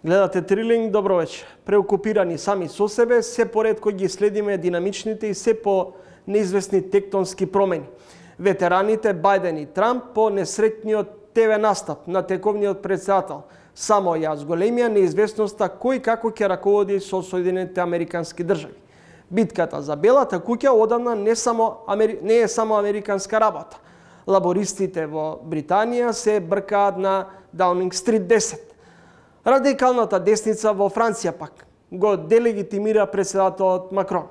Гледате Трилинг, добро вечер. Преокупирани сами со себе, се поредко ги следиме динамичните и се по неизвестни тектонски промени. Ветераните Бајден и Трамп по несретниот ТВ настап на тековниот председател. Само ја зголемија неизвестноста кој како ќе раководи со Соединетите Американски држави. Битката за Белата куќа одамна не е само американска работа. Лабористите во Британија се бркаат на Даунинг Стрит 10. Радикалната десница во Франција пак го делегитимира председателот Макрон.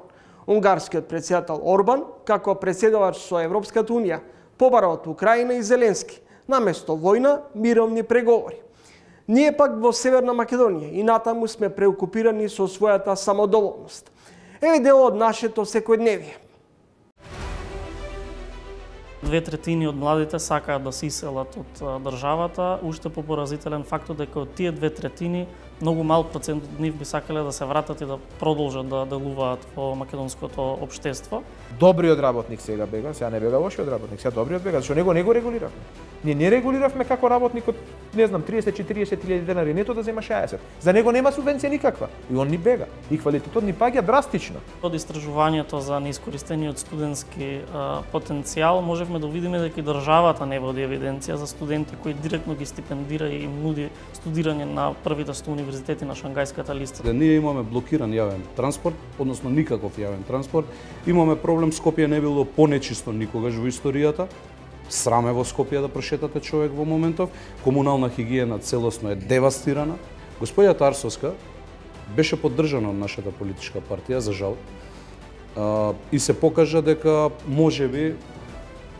Унгарскиот председател Орбан, како председавач со Европската Унија, побара од Украина и Зеленски, наместо војна, мировни преговори. Ние пак во Северна Македонија и натаму сме преокупирани со својата самодоволност. Еве дел од нашето секојдневие. 2/3 од младите сакаат да се иселат од државата, уште попоразителен фактот дека од тие 2/3 многу мал процент од нив би сакале да се вратат и да продолжат да делуваат во македонското општество. Добриот работник сега бега, сега не бега лошиот работник, сега добриот бега, зашто него не го регулиравме. Ние не регулиравме како работникот, не знам, 30-40 денари, нето да зема 60. За него нема субвенција никаква. И он ни бега. И квалитетот ни паѓа драстично. Од истражувањето за неискористениот студентски потенцијал можевме да видиме дека и државата не води евиденција за студенти кои директно ги стипендира и им нуди студирање на првите 100 универзитети на Шангајската листа. Ние имаме блокиран јавен транспорт, односно никаков јавен транспорт. Имаме проблем, Скопје не било понечисто никогаш во историјата. Сраме во Скопје да прошетате човек во моментов. Комунална хигиена целосно е девастирана. Господја Тарсовска беше поддржана од нашата политичка партија, за жал. И се покажа дека можеби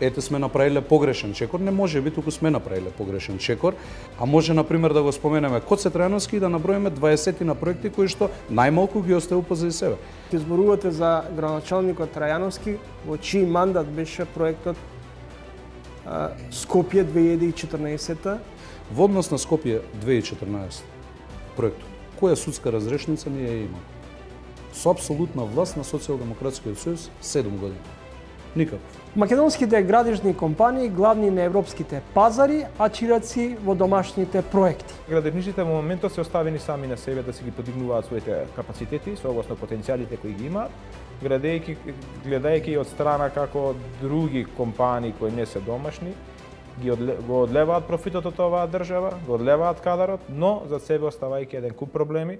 ете сме направиле погрешен чекор, не може би, туку сме направиле погрешен чекор, а може, например, да го споменеме Коце Трајановски и да наброиме 20 на проекти кои што најмалку ги оставил позади себе. Ти зборувате за градоначалникот Трајановски, во чиј мандат беше проектот Скопје 2014? Во однос на Скопје 2014 проектот, која судска разрешница ние ја имаме? Со апсолутна власт на Социјалдемократскиот сојуз 7 години. Никаков. Македонските градежни компании главни на европските пазари, а чираци во домашните проекти. Градежниците во моментот се оставени сами на себе да си ги подигнуваат своите капацитети, согласно потенцијалите кои ги имаат, гледајќи од страна како други компании кои не се домашни, го одлеваат профитот од оваа држава, го одлеваат кадарот, но за себе оставајќи еден куп проблеми.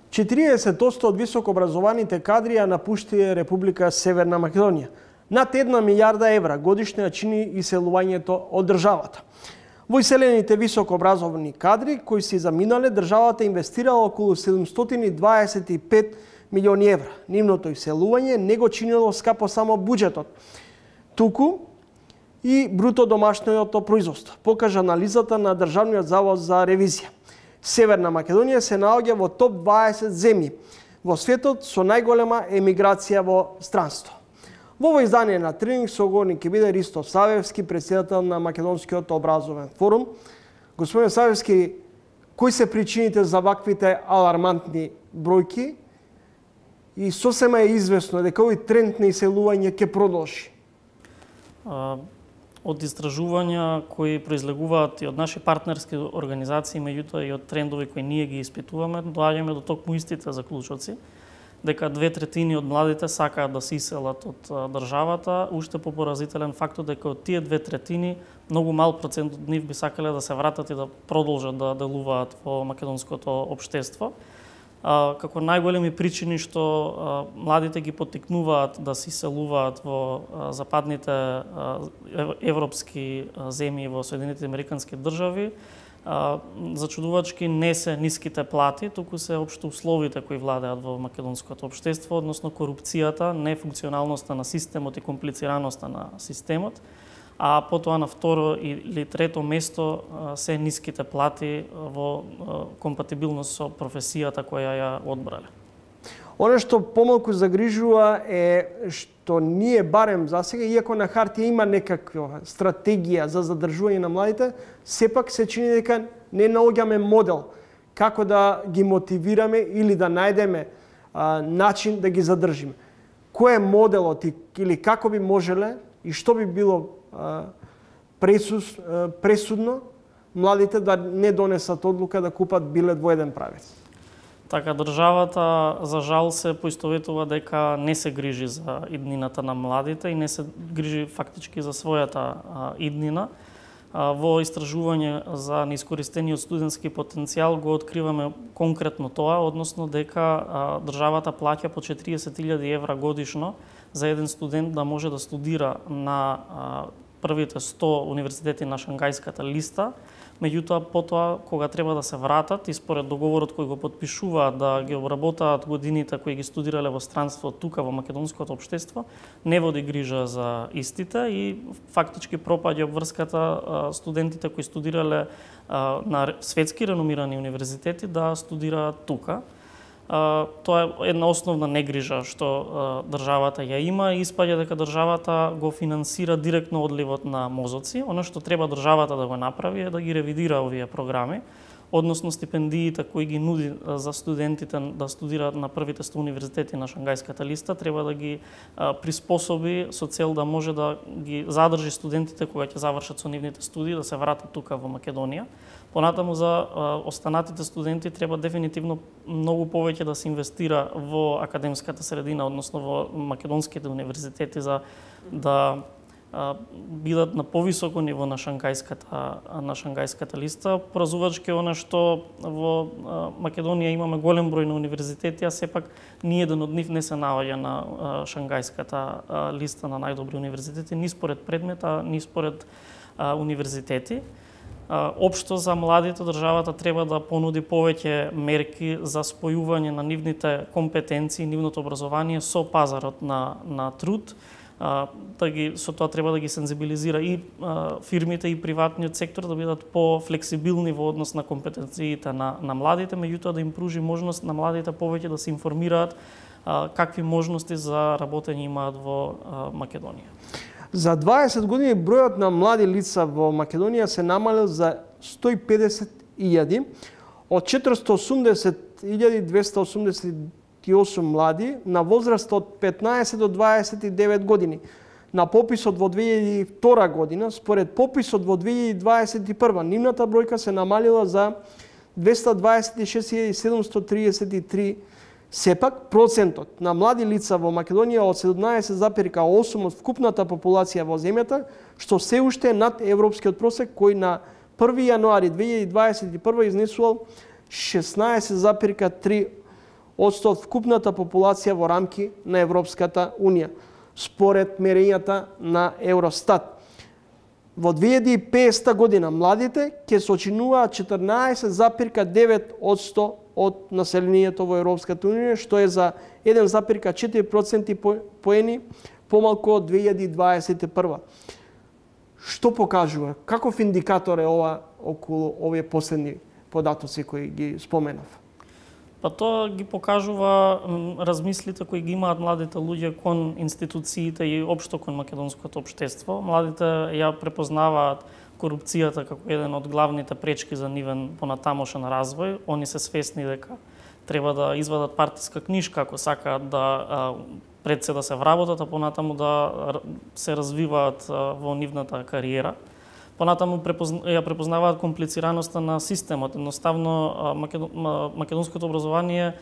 40% од високообразованите кадри ја напуштија Република Северна Македонија. Над 1 милијарда евра годишно ја чини иселувањето од државата. Во иселените високообразовани кадри кои си заминале, државата инвестирала околу 725 милиони евра. Нивното иселување не го чинело скапо само буџетот, туку и бруто домашното производство, покажа анализата на Државниот завод за ревизија. Северна Македонија се наоѓа во топ 20 земји во светот со најголема емиграција во странство. Во ово издание на Тренинг соговорник ќе биде Ристо Савевски, председател на Македонскиот образовен форум. Господин Савевски, кои се причините за ваквите алармантни бројки и сосема е известно дека овој тренд на иселување ќе продолжи? Од истражувања кои произлегуваат и од наши партнерски организации, меѓутоа и од трендови кои ние ги испитуваме, доаѓаме до токму истите заклучоци, дека 2/3 од младите сакаат да се иселат од државата, уште попоразителен фактот дека од тие 2/3 многу мал процент од нив би сакале да се вратат и да продолжат да делуваат во македонското општество. Како најголеми причини што младите ги поттикнуваат да се иселуваат во западните европски земји во Соединетите Американски држави, зачудувачки не се ниските плати, туку се општо условите кои владеат во македонското општество, односно корупцијата, нефункционалноста на системот и комплицираноста на системот, а потоа на второ или трето место се ниските плати во компатибилност со професијата која ја одбрале. Оно што помалку загрижува е што ние барем за сега, иако на хартија има некаква стратегија за задржување на младите, сепак се чини дека не наоѓаме модел како да ги мотивираме или да најдеме начин да ги задржиме. Кој е моделот или како би можеле и што би било пресудно младите да не донесат одлука да купат билет во еден правец. Така, државата, за жал, се поистоветува дека не се грижи за иднината на младите и не се грижи фактички за својата иднина. Во истражување за неискористениот студентски потенцијал го откриваме конкретно тоа, односно дека државата плаќа по 40.000 евра годишно за еден студент да може да студира на првите 100 универзитети на Шангајската листа. Меѓутоа, потоа, кога треба да се вратат и според договорот кој го подпишуваат да ги обработаат годините кои ги студирале во странство тука во македонското општество, не води грижа за истите и фактички пропаѓа обврската студентите кои студирале на светски реномирани универзитети да студираат тука. Тоа е една основна негрижа што државата ја има и испаѓа дека државата го финансира директно одливот на мозоци. Оно што треба државата да го направи е да ги ревидира овие програми, односно стипендиите кои ги нуди за студентите да студираат на првите 100 универзитети на Шангајската листа, треба да ги приспособи со цел да може да ги задржи студентите кога ќе завршат со нивните студии да се вратат тука во Македонија. Понатаму за останатите студенти треба дефинитивно многу повеќе да се инвестира во академската средина, односно во македонските универзитети за да бидат на повисоко ниво на Шангајската листа, поразувачки она што во Македонија имаме голем број на универзитети, а сепак ни еден од нив не се наоѓа на Шангајската листа на најдобри универзитети, ни според предмета, ни според универзитети. Општо за младите државата треба да понуди повеќе мерки за спојување на нивните компетенции, нивното образование со пазарот на труд. Со тоа треба да ги сензибилизира и фирмите и приватниот сектор да бидат по-флексибилни во однос на компетенциите на младите, меѓутоа да им пружи можност на младите повеќе да се информираат какви можности за работење имаат во Македонија. За 20 години бројот на млади лица во Македонија се намалил за 150.000, од 480.288 млади на возраст од 15 до 29 години. На пописот во 2002 година, според пописот во 2021, нивната бројка се намалила за 226.733. Сепак, процентот на млади лица во Македонија од 17,8 од вкупната популација во земјата, што се уште е над европскиот просек, кој на 1 јануари 2021 изнесувал 16,3 од вкупната популација во рамки на Европската Унија, според мерењата на Евростат. Во 2050 година младите ќе сочинуваат 14,9% од населението во Европската Унија, што е за 1,4% поени помалку од 2021. Што покажува? Каков индикатор е ова околу овие последни податоци кои ги споменав? Па тоа ги покажува размислите кои ги имаат младите луѓе кон институциите и општо кон македонското општество. Младите ја препознаваат корупцијата како еден од главните пречки за нивен понатамошен развој. Они се свесни дека треба да извадат партиска книжка ако сакаат да пред се да се вработат, а понатаму да се развиваат во нивната кариера. Понатаму ја препознаваат комплицираноста на системот. Едноставно македонското образование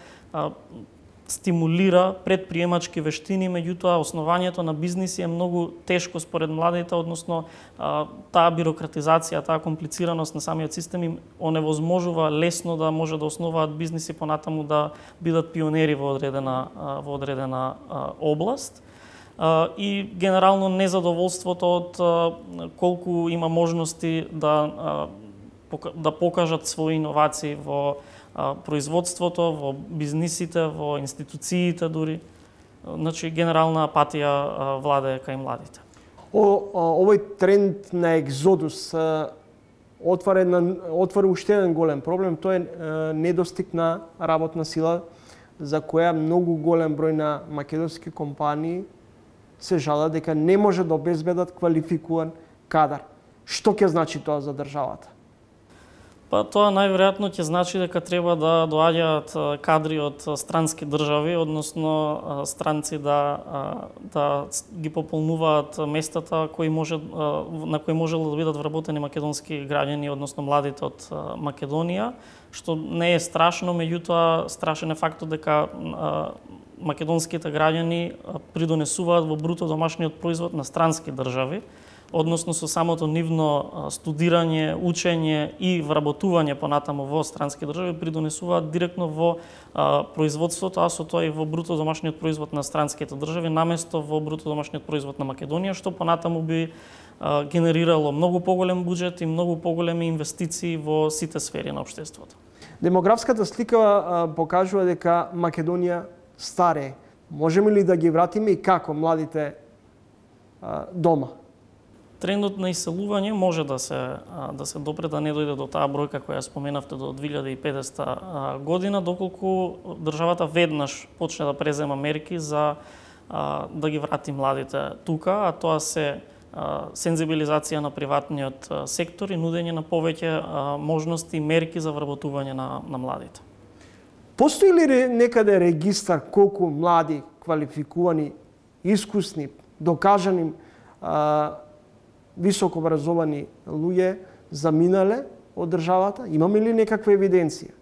стимулира предприемачки вештини, меѓутоа основањето на бизниси е многу тешко според младите, односно таа бирократизација, таа комплицираност на самиот систем им оневозможува лесно да може да основаат бизниси, понатаму да бидат пионери во одредена област. И генерално незадоволството од колку има можности да покажат своји иновации во производството, во бизнисите, во институциите дури. Значи, генерална апатија владее кај младите. Овој тренд на екзодус отвори уште еден голем проблем. Тоа е недостиг на работна сила, за која многу голем број на македонски компании се жалат дека не може да обезбедат квалификуван кадар. Што ќе значи тоа за државата? Па тоа најверојатно ќе значи дека треба да доаѓаат кадри од странски држави, односно странци да ги пополнуваат местата на кои можело да бидат вработени македонски граѓани, односно младите од Македонија, што не е страшно, меѓутоа страшен е фактот дека македонските граѓани придонесуваат во бруто домашниот производ на странски држави, односно со самото нивно студирање, учење и вработување понатаму во странски држави придонесуваат директно во производството, а со тоа и во бруто домашниот производ на странските држави, наместо во бруто домашниот производ на Македонија, што понатаму би генерирало многу поголем буџет и многу поголеми инвестиции во сите сфери на општеството. Демографската слика покажува дека Македонија старее. Можеме ли да ги вратиме и како младите дома? Трендот на иселување може да се допре да не дојде до таа бројка која споменавте до 2050 година, доколку државата веднаш почне да презема мерки за да ги врати младите тука, а тоа се сензибилизација на приватниот сектор и нудење на повеќе можности и мерки за вработување на младите. Постои ли некаде регистар колку млади, квалификувани, искусни, докажани високо образовани луѓе заминале од државата? Имаме ли некаква евиденција?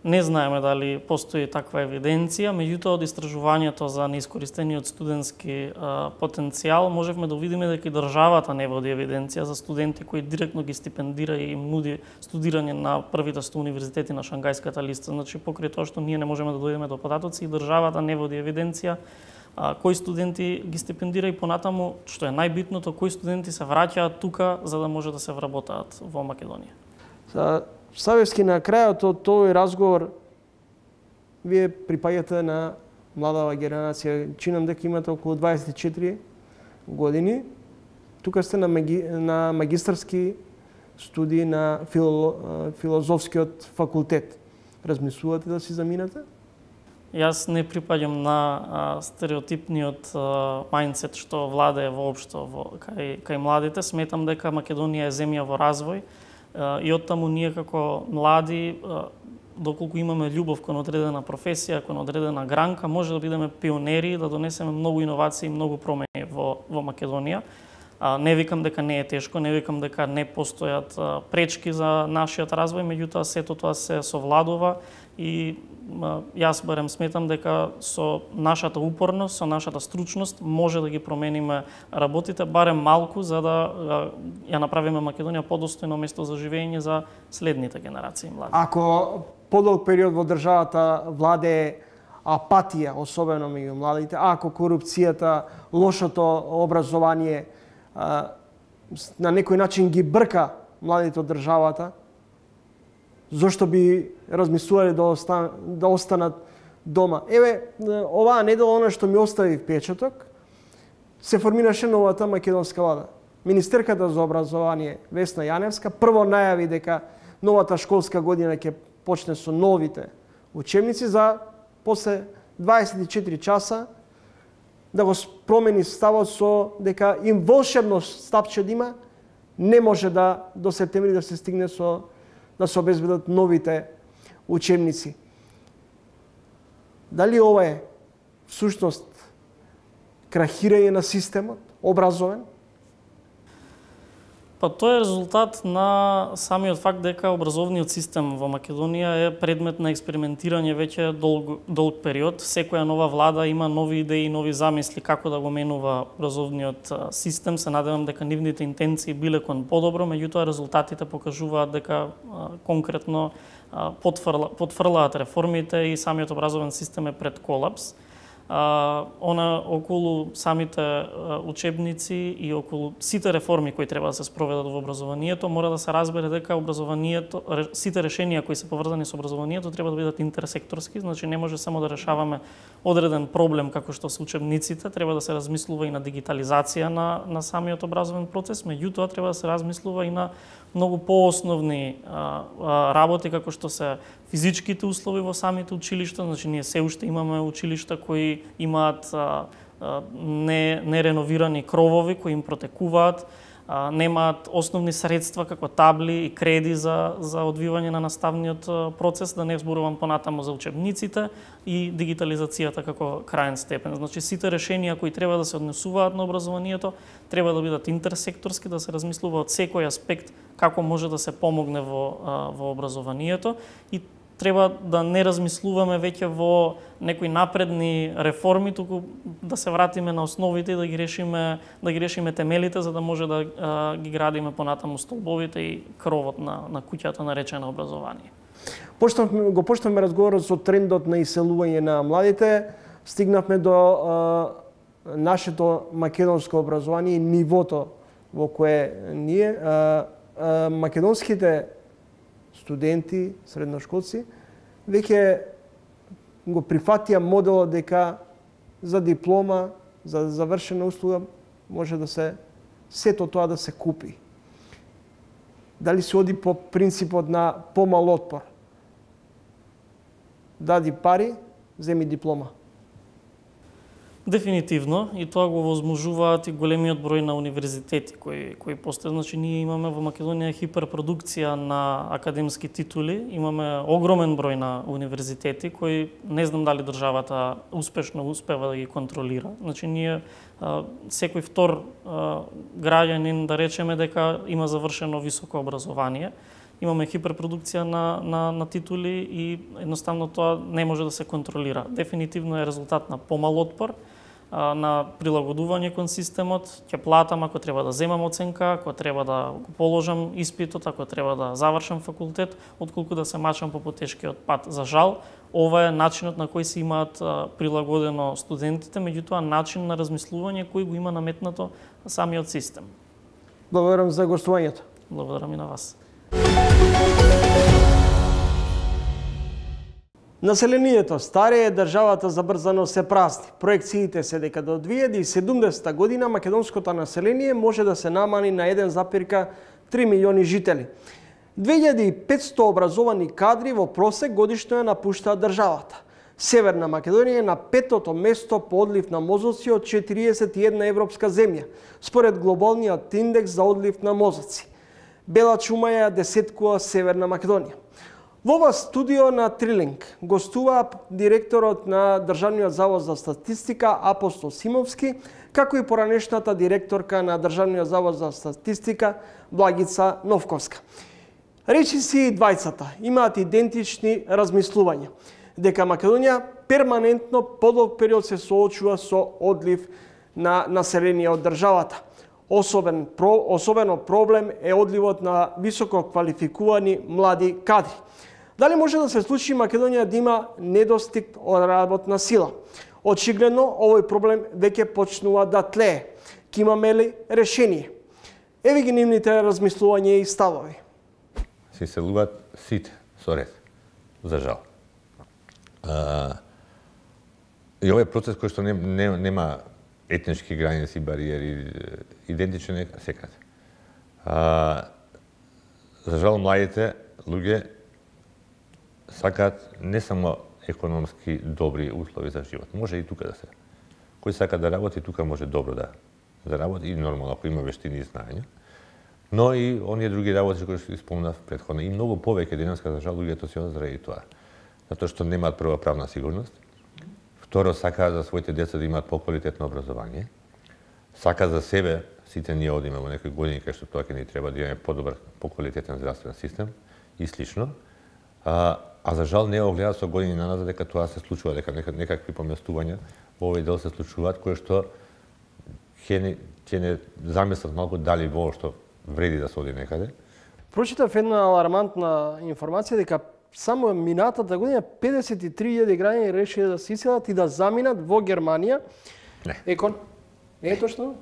Не знаеме дали постои таква евиденција, меѓутоа од истражувањето за неискористениот студентски потенцијал можевме да видиме дека и државата не води евиденција за студенти кои директно ги стипендира и им нуди студирање на првите 100 универзитети на Шангајската листа. Значи, покрај тоа што ние не можеме да дојдеме до податоци, и државата не води евиденција кои студенти ги стипендира и понатаму, што е најбитното, кои студенти се враќаат тука за да може да се вработаат во Македонија. Савевски, на крајот од тој разговор, вие припаѓате на младава генерација. Чинам дека имате околу 24 години. Тука сте на магистарски студии на филозофскиот факултет. Размислувате да си заминете? Јас не припаѓам на стереотипниот мајндсет што владее воопшто кај младите. Сметам дека Македонија е земја во развој и оттаму ние како млади, доколку имаме љубов кон одредена професија, кон одредена гранка, може да бидеме пионери, да донесеме многу иновации и многу промени во Македонија. Не викам дека не е тешко, не викам дека не постојат пречки за нашиот развој, меѓутоа сето тоа се совладува и јас барем сметам дека со нашата упорност, со нашата стручност може да ги промениме работите барем малку за да ја направиме Македонија подостојно место за живење за следните генерации млади. Ако подолг период во државата владее апатија, особено меѓу младите, ако корупцијата, лошото образование на некој начин ги брка младите од државата, зошто би размислувале да останат дома? Еве, оваа недела, она што ми остави впечаток, се формираше новата македонска влада. Министерката за образование Весна Јаневска прво најави дека новата школска година ќе почне со новите учебници, за после 24 часа да го промени ставот со дека им волшебно стапче да има, не може до септември да се стигне да се обезбедат новите учебници. Дали ова е всушност крахирање на системот образовен? Па тоа е резултат на самиот факт дека образовниот систем во Македонија е предмет на експериментирање веќе долг период. Секоја нова влада има нови идеи, нови замисли како да го менува образовниот систем. Се надевам дека нивните интенции биле кон подобро, меѓутоа резултатите покажуваат дека конкретно потфрлаат реформите и самиот образовен систем е пред колапс. Околу самите учебници и околу сите реформи кои треба да се спроведат во образованието, мора да се разбере дека образованието, сите решенија кои се поврзани со образованието треба да бидат интерсекторски, значи не може само да решаваме одреден проблем како што се учебниците, треба да се размислува и на дигитализација на самиот образовен процес, меѓутоа треба да се размислува и на многу поосновни работи како што се физичките услови во самите училишта, значи ние се уште имаме училишта кои имаат нереновирани кровови кои им протекуваат, немаат основни средства како табли и креди за одвивање на наставниот процес, да не зборувам понатаму за учебниците и дигитализацијата како краен степен. Значи сите решенија кои треба да се однесуваат на образованието треба да бидат интерсекторски, да се размислува од секој аспект како може да се помогне во образованието и треба да не размислуваме веќе во некои напредни реформи, туку да се вратиме на основите и да ги решиме темелите за да може да ги градиме понатаму столбовите и кровот на куќата наречена образование. Го почнавме разговорот со трендот на иселување на младите, стигнавме до нашето македонско образование и нивото во кое ние македонските студенти, средношколци, веќе го прифатија моделот дека за диплома, за завршена услуга може да се сето тоа да се купи. Дали се оди по принципот на помал отпор? Дади пари, земи диплома. Дефинитивно, и тоа го возможуваат и големиот број на универзитети кои постојат. Значи, ние имаме во Македонија хиперпродукција на академски титули, имаме огромен број на универзитети кои не знам дали државата успешно успева да ги контролира. Значи, ние секој втор граѓанин, да речеме дека има завршено високо образование, имаме хиперпродукција на титули и едноставно тоа не може да се контролира. Дефинитивно е резултат на помал отпор, на прилагодување кон системот, ќе платам ако треба да земам оценка, ако треба да го положам испитот, ако треба да завршам факултет, отколку да се мачам по потешкиот пат. За жал, ова е начинот на кој се имаат прилагодено студентите, меѓутоа начин на размислување кој го има наметнато самиот систем. Благодарам за гостувањето. Благодарам и на вас. Населението старее, државата забрзано се празни. Проекциите се дека до 2070 година македонското население може да се намали на 1,3 милиони жители. 2500 образовани кадри во просек годишно ја напуштаат државата. Северна Македонија е на 5-то место по одлив на мозоци од 41 европска земја, според глобалниот индекс за одлив на мозоци. Бела чума ја десеткува Северна Македонија. Во ова студио на Трилинг гостува директорот на Државниот завод за статистика Апостол Симовски, како и поранешната директорка на Државниот завод за статистика Благица Новковска. Речиси и двајцата имаат идентични размислувања, дека Македонија перманентно подолг период се соочува со одлив на население од државата. Особено проблем е одливот на високо квалификувани млади кадри. Дали може да се случи Македонија да има недостиг од работна сила? Очигледно, овој проблем веќе почнува да тлее. Ке имаме ли решение? Еве ги нивните размислувања и ставови. Се иселуваат сите со ред, за жал. И овој процес кој што нема етнички граници, бариери, идентичен е секаде. За жал, младите луѓе сакаат не само економски добри услови за живот, може и тука да се. Кој сака да работи, тука може добро да заработи и нормално ако има вештини и знаења. Но и оние други работи кои што спомнав претходно и многу повеќе денеска за жал луѓето се заради тоа. Затоа што немаат прва правна сигурност. Второ, сакаат за своите деца да имаат поквалитетно образование. Сака за себе, сите ние одиме во некои години кај што тоа ќе ни треба да имаме подобар, поквалитетен здравствен систем и слично. А за жал не огледаат со години наназад дека тоа се случува, дека некакви поместувања во овој дел се случуваат, кои што ќе не замислат малку дали воопшто вреди да се оди некаде. Прочитав една алармантна информација дека само минатата година 53.000 граѓани решиле да се иселат и да заминат во Германија. Не. Не е точно?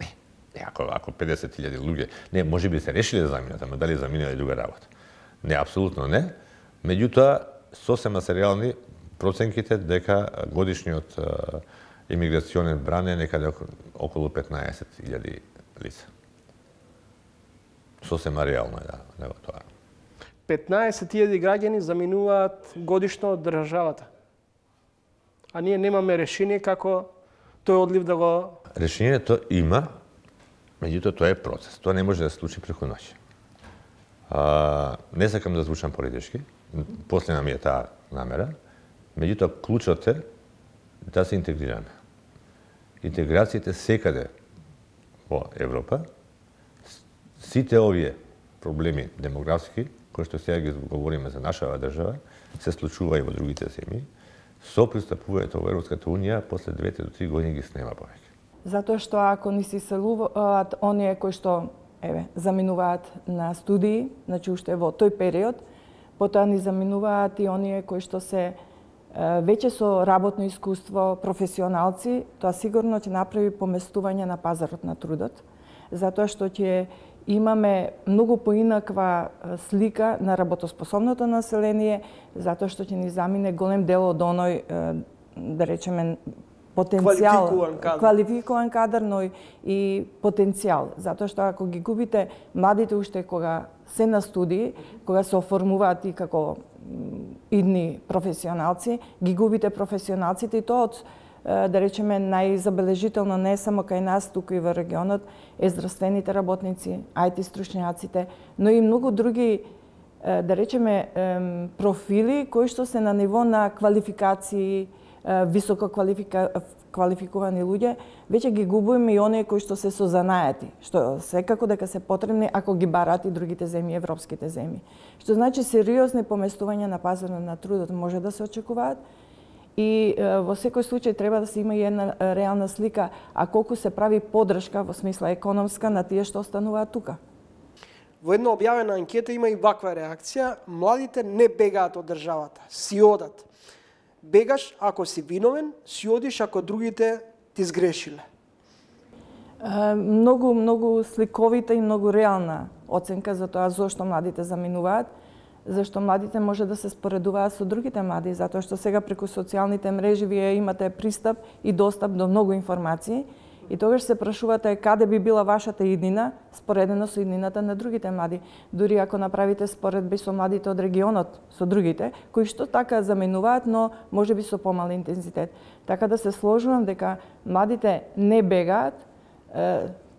Не, ако 50.000 луѓе, не, можеби се решиле да заминат, ама дали заминале друга работа. Не, апсолутно не. Меѓутоа, сосема се реални проценките дека годишниот имиграционен бран е некаде околу 15.000 лица. Сосема реално е да тоа. 15.000 граѓани заминуваат годишно од државата. А ние немаме решение како тој одлив да го... Решението има, Меѓутоа, тоа е процес. Тоа не може да се случи преку ноќ. Не сакам да звучам политички, последна ми е таа намера, меѓутоа, клучот е да се интегрираме. Интеграцијата секаде во Европа, сите овие проблеми демографски, кои што сега ги говориме за нашава држава, се случува и во другите земји, со пристапувањето во Европската Унија, после 2 до 3 години ги снема повеќе. Затоа што ако ни се иселуваат оние кои што заминуваат на студии, значи уште во тој период, потоа ни заминуваат и оние кои што се веќе со работно искуство, професионалци, тоа сигурно ќе направи поместување на пазарот на трудот, затоа што ќе имаме многу поинаква слика на работоспособното население, затоа што ќе ни замине голем дел од оној, да речеме, потенцијал, квалификуван кадар, но и потенцијал. Затоа што ако ги губите младите уште кога се на студии, кога се оформуваат и како идни професионалци, ги губите професионалците и тоа од, да речеме, најзабележително не само кај нас, туку и во регионот, е здравствените работници, IT стручњаците, но и многу други, да речеме, профили кои што се на ниво на квалификации, високо квалификувани луѓе, веќе ги губиме и оние кои што се со занајати, што секако дека се потребни ако ги барат и другите земји, европските земји. Што значи сериозни поместувања на пазарот на трудот може да се очекуваат и во секој случај треба да се има и една реална слика, а колку се прави поддршка во смисла економска на тие што остануваат тука. Во една објавена анкета има и ваква реакција: младите не бегаат од државата, си одат. Бегаш ако си виновен, си одиш ако другите ти сгрешиле. Многу сликовита и многу реална оценка за тоа зошто младите заминуваат, зашто младите може да се споредуваат со другите млади, затоа што сега преку социјалните мрежи вие имате пристап и достап до многу информации и тогаш се прашувате каде би била вашата иднина споредено со иднината на другите млади. Дури ако направите споредби со младите од регионот, со другите, кои што така заминуваат, но можеби со помал интензитет. Така да се сложувам дека младите не бегаат,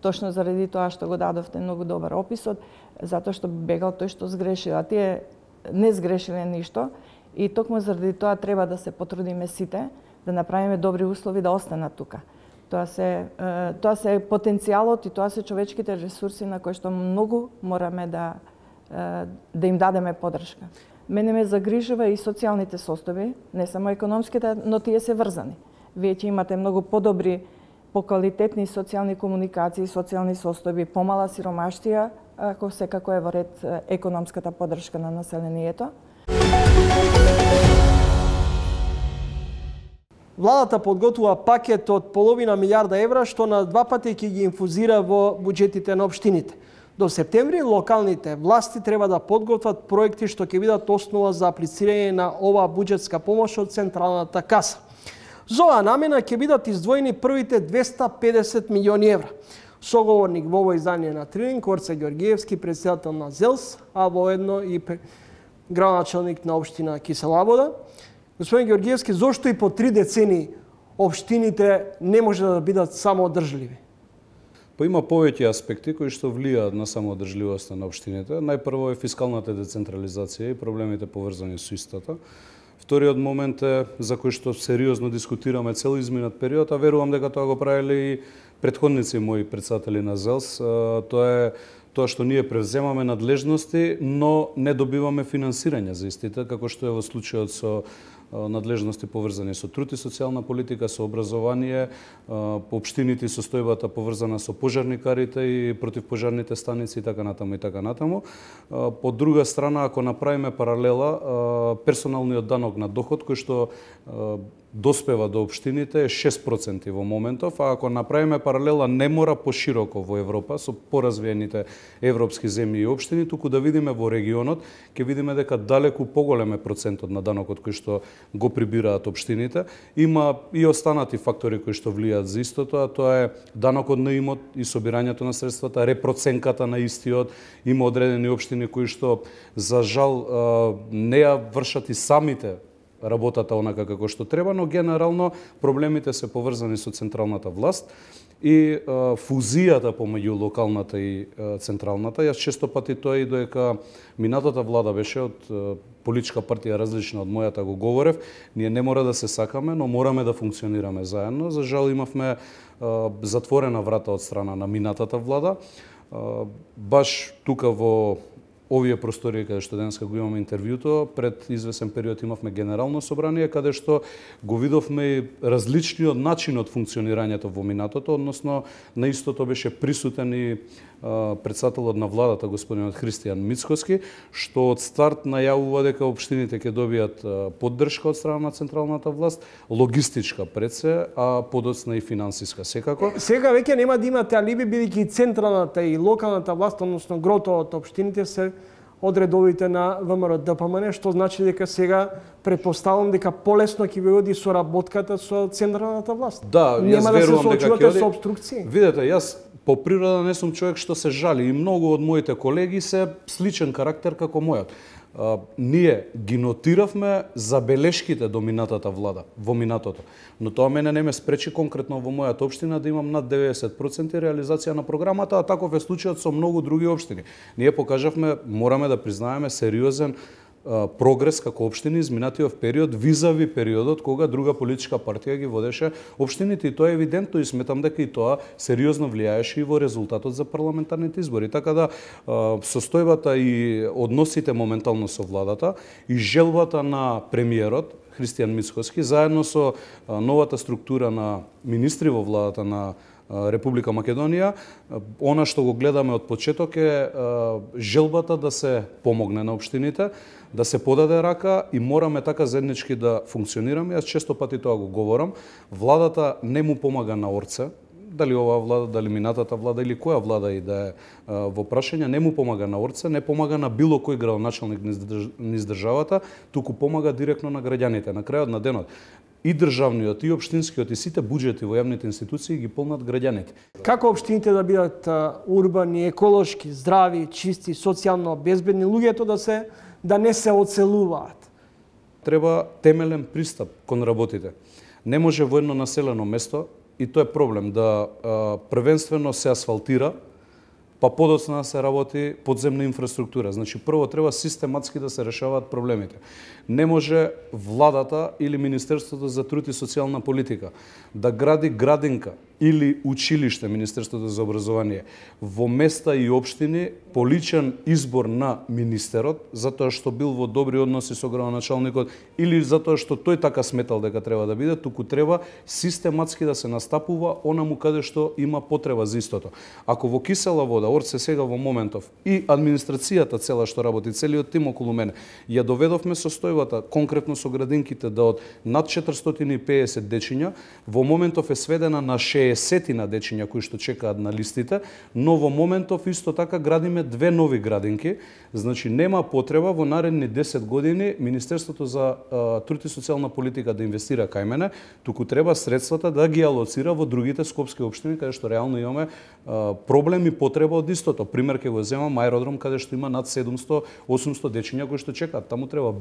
точно заради тоа што го дадовте многу добар описот, затоа што бегал тој што сгрешил, а тие не сгрешиле ништо и токму заради тоа треба да се потрудиме сите да направиме добри услови да останат тука. Тоа се потенцијалот и тоа се човечките ресурси на кои што многу мораме да им дадеме поддршка. Мене ме загрижува и социјалните состојби, не само економските, но тие се врзани. Вие ќе имате многу подобри, поквалитетни социјални комуникации, социјални состојби, помала сиромаштија, ако секако е во ред економската поддршка на населението. Владата подготвува пакет од половина милиарда евра, што на 2 пати ќе ги инфузира во буџетите на општините. До септември локалните власти треба да подготват проекти што ќе бидат основа за аплицирање на оваа буџетска помош од Централната каса. За оваа намена ќе бидат издвоени првите 250 милиони евра. Соговорник во ово издание на Трилинг, Горце Ѓорѓиевски, председател на ЗЕЛС, а воедно и градоначалник на општина Кисела Вода. Господин Ѓорѓиевски, зошто и по 3 децени општините не може да бидат самоодржливи? Па има повеќе аспекти кои што влијаат на самоодржливоста на општините. Најпрво е фискалната децентрализација и проблемите поврзани со истата. Вториот момент е за кој што сериозно дискутираме цел изминат период, а верувам дека тоа го правеле и претходници мои председатели на ЗЕЛС. Тоа е тоа што ние превземаме надлежности, но не добиваме финансирање за истите, како што е во случајот со надлежности поврзани со труд и социјална политика, со образование, по општините состојбата поврзана со пожарникарите и противпожарните станици и така натаму и така натаму. По друга страна, ако направиме паралела, персоналниот данок на доход кој што доспева до општините е 6% во моментов, а ако направиме паралела не мора пошироко во Европа со поразвиените европски земји и општини, туку да видиме во регионот, ќе видиме дека далеку поголем е процентот на данокот кој што го прибираат општините. Има и останати фактори кои што влијаат за истото, а тоа е данокот на имот и собирањето на средствата, репроценката на истиот. Има одредени општини кои што за жал не ја вршат и самите работата онака како што треба, но генерално проблемите се поврзани со централната власт и фузијата помеѓу локалната и централната. Јас често пати тоа и додека минатата влада беше од политичка партија различна од мојата го говорев, ние не мора да се сакаме, но мораме да функционираме заедно. За жал имавме затворена врата од страна на минатата влада. Баш тука во овие простори каде што денеска го имаме интервјуто, пред извесен период имавме генерално собрание каде што го видовме различниот начин од функционирањето во минатото, односно на истото беше присутен и председателот на владата господинот Христијан Мицкоски, што од старт најавува дека општините ќе добијат поддршка од страна на централната власт, логистичка пред се, а подоцна и финансиска секако. Сега веќе нема да имате алиби, бидејќи централната и локалната власт, односно грото од општините се од редовите на ВМРО-ДПМН, што значи дека сега претпоставувам дека полесно ќе ви оди соработката со централната власт. Да, нема јас да се верувам дека соочувате ќе оди со обструкции. Видете, јас по природа не сум човек што се жали и многу од моите колеги се сличен карактер како мојот. Ние ги нотиравме забелешките до минатата влада во минатото, но тоа мене не ме спречи конкретно во мојата општина да имам над 90% реализација на програмата, а таков е случајот со многу други општини. Ние покажавме, мораме да признаеме, сериозен прогрес како општини изминатиот период визави периодот кога друга политичка партија ги водеше општините, и тоа е евидентно и сметам дека и тоа сериозно влијаеше и во резултатот за парламентарните избори. Така да состојбата и односите моментално со владата и желбата на премиерот Христијан Мицкоски заедно со новата структура на министри во владата на Република Македонија, она што го гледаме од почеток е желбата да се помогне на општините, да се подаде рака и мораме така заеднички да функционираме. Јас често пати тоа го говорам. Владата не му помага на орце, дали оваа влада, дали минатата влада или која влада и да е во прашање, не му помага на орце, не помага на било кој градоначалник низ државата, туку помага директно на граѓаните. На крајот на денот и државниот, и општинскиот, и сите буџети во јавните институции ги полнат граѓаните. Како општините да бидат урбани, еколошки, здрави, чисти, социјално безбедни, луѓето да не се оцелуваат? Треба темелен пристап кон работите. Не може во едно населено место, и тоа е проблем, да првенствено се асфалтира, па подоцна да се работи подземна инфраструктура. Значи, прво треба систематски да се решаваат проблемите. Не може владата или Министерството за труд и социјална политика да гради градинка или училиште, Министерството за образование, во места и општини по личен избор на министерот, затоа што бил во добри односи со градоначалникот или затоа што тој така сметал дека треба да биде, туку треба систематски да се настапува онаму каде што има потреба за истото. Ако во кисела вода, орце сега во моментов, и администрацијата цела што работи, целиот тим околу мене, ја доведовме состојбата конкретно со градинките да од над 450 дечиња, во моментов е сведена на 60 дечиња кои што чекаат на листите, но во моментов исто така градиме 2 нови градинки. Значи нема потреба во наредни 10 години Министерството за труд и социјална политика да инвестира кај мене, туку треба средствата да ги алоцира во другите скопски општини каде што реално имаме проблем и потреба од истото. Пример ќе го земам аеродром каде што има над 700-800 дечиња кои што чекаат. Таму треба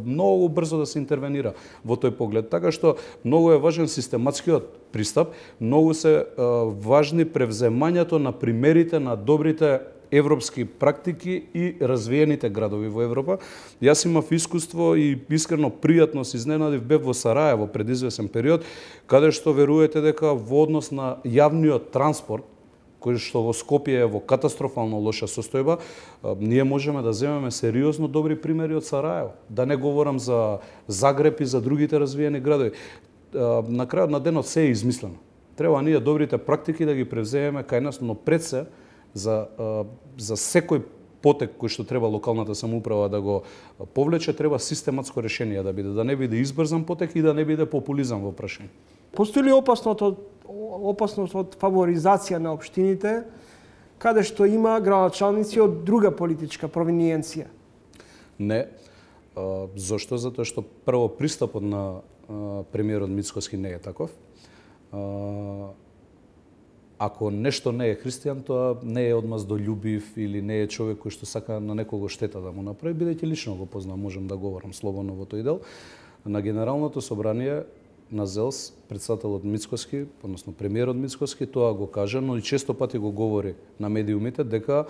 многу брзо да се интервенира во тој поглед. Така што многу е важен систематскиот пристап, многу се важни превземањето на примерите на добрите европски практики и развиените градови во Европа. Јас имав искуство и искрено пријатно се изненадив, бев во Сараево пред извесен период, каде што верувате дека во однос на јавниот транспорт, кој што во Скопје е во катастрофално лоша состојба, ние можеме да земеме сериозно добри примери од Сараево. Да не говорам за Загреб и за другите развиени градови. На крајот на денот се е измислено. Треба ние добрите практики да ги превземеме кај нас, но пред се за секој потек кој што треба локалната самоуправа да го повлече, треба систематско решение да биде, да не биде избрзан потек и да не биде популизам во прашање. Постои ли опасност од фаворизација на општините, каде што има градоначалници од друга политичка провиниенција? Не. Зошто? Затоа што прво пристапот на премиерот Мицкоски не е таков. Ако нешто не е христијан, тоа не е одмаздолюбив или не е човек кој што сака на некого штета да му направи, бидејќи лично го познам, можам да говорам слободно во тој дел. на Генералното собрание на ЗЕЛС, председателот Мицкоски, односно премиерот Мицкоски, тоа го кажа, но и често пати го говори на медиумите дека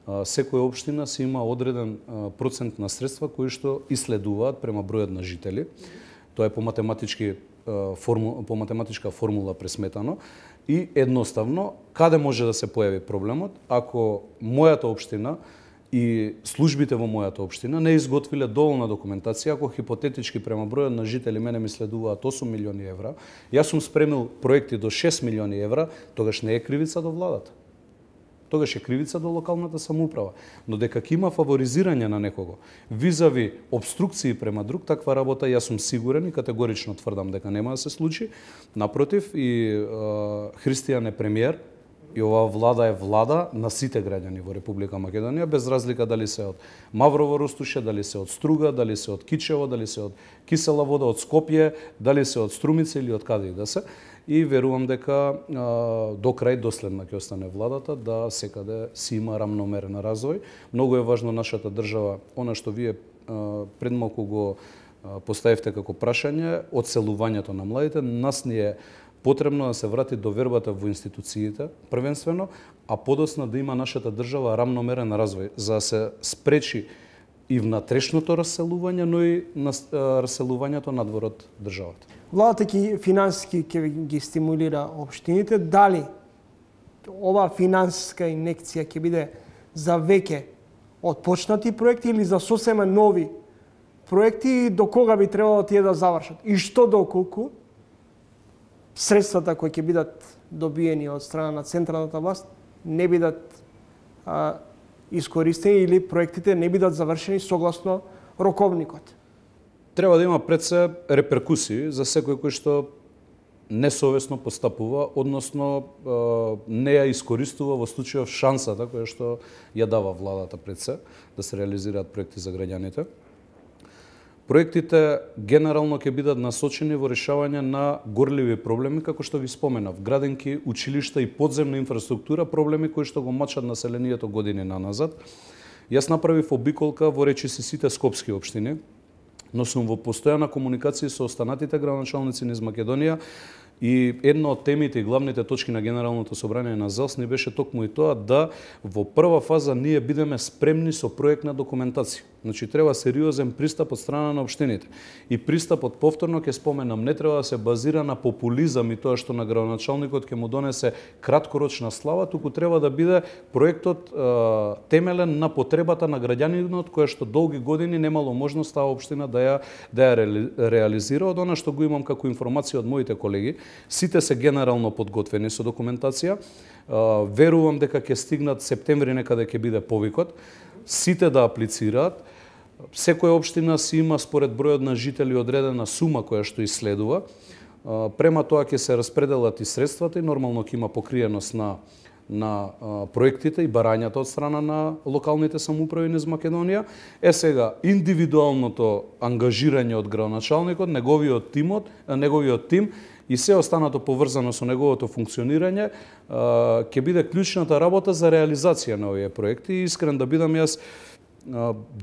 секоја општина си има одреден процент на средства кои што исследуваат према бројот на жители. Тоа е по математичка формула пресметано и едноставно каде може да се појави проблемот ако мојата општина и службите во мојата општина не изготвиле доволна документација, ако хипотетички према бројот на жители мене ми следуваат 8 милиони евра, јас сум спремил проекти до 6 милиони евра, тогаш не е кривица до владата. Тогаш е кривица до локалната самоуправа. Но дека ќе има фаворизирање на некого, визави обструкции према друг, таква работа јас сум сигурен и категорично тврдам дека нема да се случи. Напротив, и Христијан е премиер, и оваа влада е влада на сите граѓани во Република Македонија, без разлика дали се од Маврово Ростуше, дали се од Струга, дали се од Кичево, дали се од Кисела вода, од Скопје, дали се од Струмица или од каде и да се. И верувам дека до крај доследна ќе остане владата, да секаде си има рамномерен развој. Многу е важно нашата држава, она што вие пред малку го поставивте како прашање, одселувањето на младите, нас ни е потребно да се врати довербата во институциите, првенствено, а подоцна да има нашата држава рамномерен развој, за да се спречи и внатрешното раселување, но и раселувањето надвор од државата. Владата ќе финансиски ќе ги стимулира општините, дали ова финансиска инекција ќе биде за веќе отпочнати проекти или за сосема нови проекти, до кога би требало тие да завршат? И што доколку средствата кои ќе бидат добиени од страна на централната власт не бидат искористени или проектите не бидат завршени согласно роковникот? Треба да има пред се реперкусии за секој кој што несовесно постапува, односно не ја искористува во случајов шансата која што ја дава владата пред се да се реализираат проекти за граѓаните. Проектите генерално ќе бидат насочени во решавање на горливи проблеми, како што ги споменав, градинки, училишта и подземна инфраструктура, проблеми кои што го мачат населението години наназад. Јас направив обиколка во речиси сите скопски општини, но сум во постојана комуникација со останатите градоначалници низ Македонија и една од темите и главните точки на Генералното собрание на ЗЕЛС ни беше токму и тоа да во прва фаза ние бидеме спремни со проектна документација. Значи треба сериозен пристап од страна на општините. И пристапот, повторно ќе споменам, не треба да се базира на популизам и тоа што на градоначалникот ќе му донесе краткорочна слава, туку треба да биде проектот темелен на потребата на граѓанинот која што долги години немало можност таа општина да ја реализира. Од она што го имам како информација од моите колеги, сите се генерално подготвени со документација. Верувам дека ќе стигнат септември некаде ќе биде повикот. Сите да аплицираат. Секоја општина си има според бројот на жители одредена сума која што исследува. Према тоа ќе се распределат и средствата и нормално ќе има покриеност на проектите и барањата од страна на локалните самоуправи низ Македонија. Сега индивидуалното ангажирање од градоначалникот, неговиот тим и се останато поврзано со неговото функционирање ќе биде клучната работа за реализација на овие проекти. И искрен да бидам, јас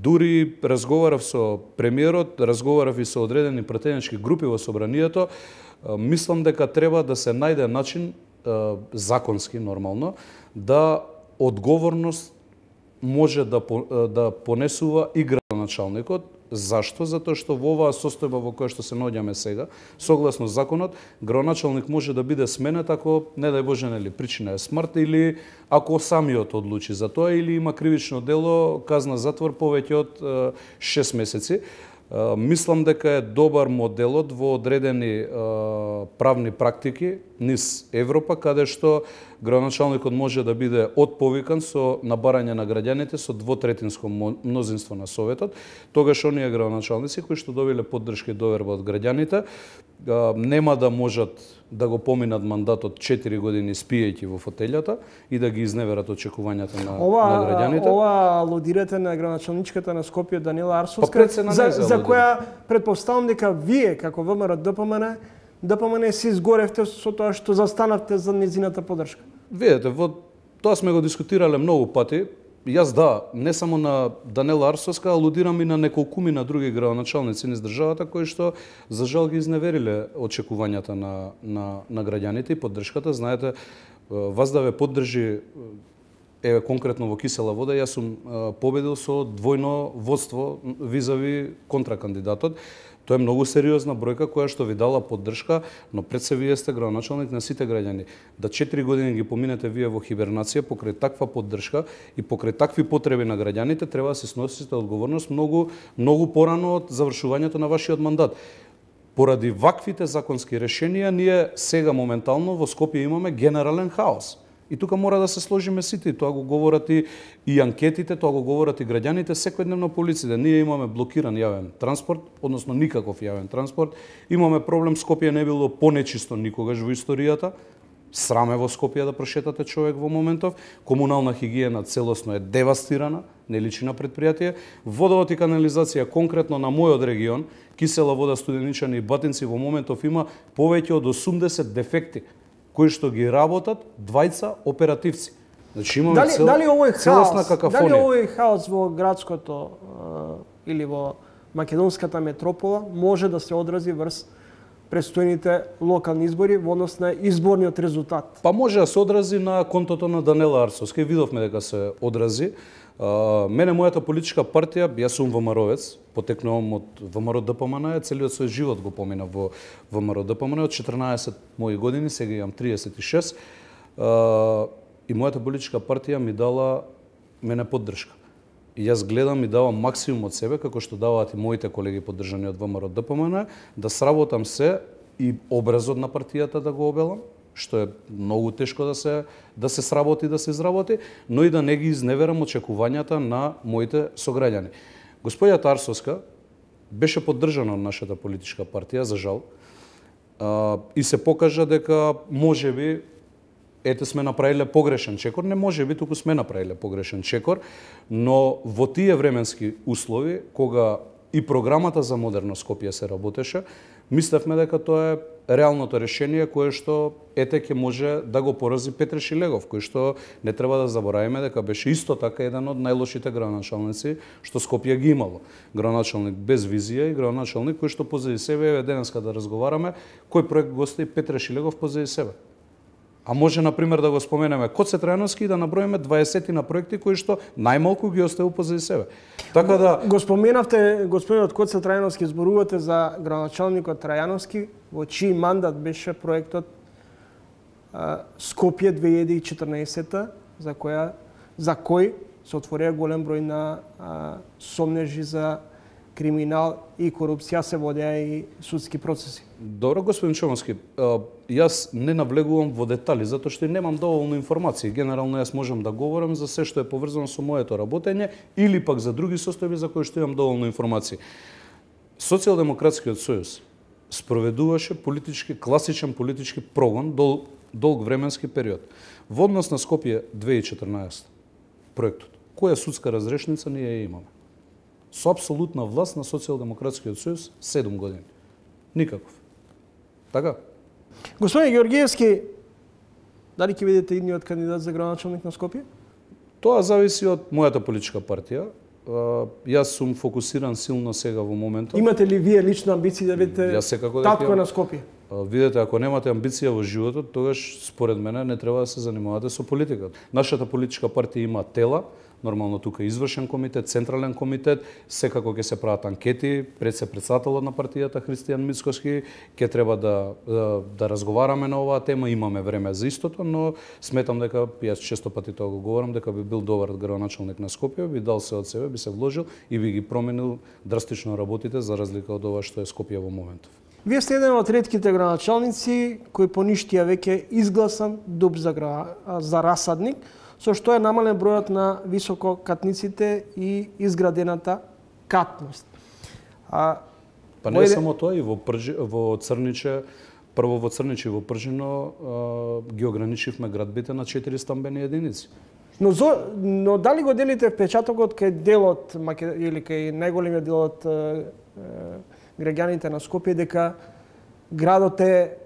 дури разговарав со премиерот, разговарав и со одредени пратенички групи во собранието. Мислам дека треба да се најде начин законски, нормално, да одговорност може да понесува и градоначалникот. Зашто? Затоа што во оваа состојба во која што се наоѓаме сега, согласно законот, градоначалник може да биде сменет ако, не дај Боже, нели, причина е смрт или ако самиот одлучи за тоа или има кривично дело, казна затвор повеќе од 6 месеци. Мислам дека е добар моделот во одредени правни практики низ Европа, каде што градоначалникот може да биде отповикан со набарање на граѓаните со двотретинско мнозинство на Советот. Тогаш оние градоначалници кои што добиле поддршка и доверба од граѓаните нема да можат да го поминат мандатот 4 години спиејќи во фотелјата и да ги изневерат очекувањата на граѓаните. Ова алудирате на градоначалничката на Скопје Данила Арсовска, за која предпоставам дека вие како ВМРО ДПМН се изгоревте со тоа што застанавте за незината поддршка. Видете, тоа сме го дискутирале многу пати. Јас не само на Данела Арсовска, алудирам и на неколкумина други градоначалници низ државата кои што за жал ги изневериле очекувањата на граѓаните и поддршката. Знаете, вас да ве поддржи конкретно во Кисела Вода, јас сум победил со двојно водство визави контракандидатот. Тоа е многу сериозна бројка која што ви дала поддршка, но пред се вие сте градоначалник на сите граѓани. Да 4 години ги поминете вие во хибернација покрај таква поддршка и покрај такви потреби на граѓаните, треба да се сносите одговорност многу порано од завршувањето на вашиот мандат. Поради ваквите законски решенија, ние сега моментално во Скопје имаме генерален хаос. И тука мора да се сложиме сите, тоа го говорат и анкетите, тоа го говорат и граѓаните секојдневно по улиците. Ние имаме блокиран јавен транспорт, односно никаков јавен транспорт. Имаме проблем, Скопје не било понечисто никогаш во историјата. Сраме во Скопје да прошетате човек во моментов. Комунална хигиена целосно е девастирана, не личи на предпријатие. Водовод и канализација конкретно на мојот регион, Кисела Вода, Студеничани и Батинци во моментов има повеќе од 80 дефекти кои што ги работат двајца оперативци. Значи имаме целосна какафонија. Дали овој хаос во градското или во македонската метропола може да се одрази врз престојните локални избори во однос на изборниот резултат? Па може да се одрази на контото на Данела Арсовска. Видовме дека се одрази. Мене, мојата политичка партија, јас сум ВМРО-вец, потекнувам од ВМРО ДПМН, целиот свој живот го помина во ВМРО ДПМН, од 14 мои години, сега имам 36, и мојата политичка партија ми дала мене поддршка. И јас гледам и давам максимум од себе, како што даваат и моите колеги поддржани од ВМРО ДПМН, да сработам се и образот на партијата да го обелам, што е многу тешко да се сработи, да се изработи, но и да не ги изневерам очекувањата на моите сограѓани. Господјата Арсовска беше поддржана од нашата политичка партија, за жал, и се покажа дека можеби сме направиле погрешен чекор, не можеби, туку сме направиле погрешен чекор, но во тие временски услови, кога и програмата за модерно Скопје се работеше, мислевме дека тоа е реалното решение кое што ќе може да го порази Петре Шилегов, кој што не треба да забораваме дека беше исто така еден од најлошите градоначалници што Скопје ги имало. Градоначалник без визија и градоначалник кој што позади себе, денеска да разговараме, кој проект го остави Петре Шилегов позади себе. А може, например, да го споменеме Коце Трајановски и да наброиме 20 на проекти кои што најмалку ги оставил позади себе. Така да го споменавте, господинот Коце Трајановски, зборувате за градоначалникот Трајановски, во чиј мандат беше проектот Скопје 2014, за кој се отворија голем број на сомнежи за криминал и корупција, се водеа и судски процеси. Добро, господин Чомовски, јас не навлегувам во детали, затоа што немам доволно информации. Генерално јас можам да говорам за се што е поврзано со моето работење или пак за други состојби за кои што имам доволно информации. Социјалдемократскиот сојуз спроведуваше класичен политички прогон долг временски период. Во однос на Скопје 2014 проектот, која судска разрешница ние ја имаме? Со апсолутна власт на Социјалдемократскиот сојуз 7 години. Никаков. Така? Господин Георгиевски, дали ќе бидете идниот кандидат за градоначалник на Скопје? Тоа зависи од мојата политичка партија. Јас сум фокусиран силно сега во моментот. Имате ли вие лична амбиција да бидете татко на Скопје? Видете, ако немате амбиција во животот, тогаш според мене не треба да се занимавате со политиката. Нашата политичка партија има тела, нормално тука извршен комитет, централен комитет, секако ќе се прават анкети, председателот на партијата Христијан Мицкоски, ќе треба да разговараме на оваа тема, имаме време за истото, но сметам дека, јас често пати тоа го говорам, дека би бил добар градоначалник на Скопје, би дал се од себе, би се вложил и би ги променил драстично работите за разлика од ова што е Скопје во моментов. Вие сте еден од ретките градоначалници кој поништија веќе изгласан дуб за расадник, со што е намален бројот на висококатниците и изградената катност. Па не само тоа, и во Црниче, прво во Црниче и во Пржино ги ограничивме градбите на 4 стамбени единици. Но дали го делите впечатокот кај делот или кај најголемиот дел од граѓаните на Скопје дека градот е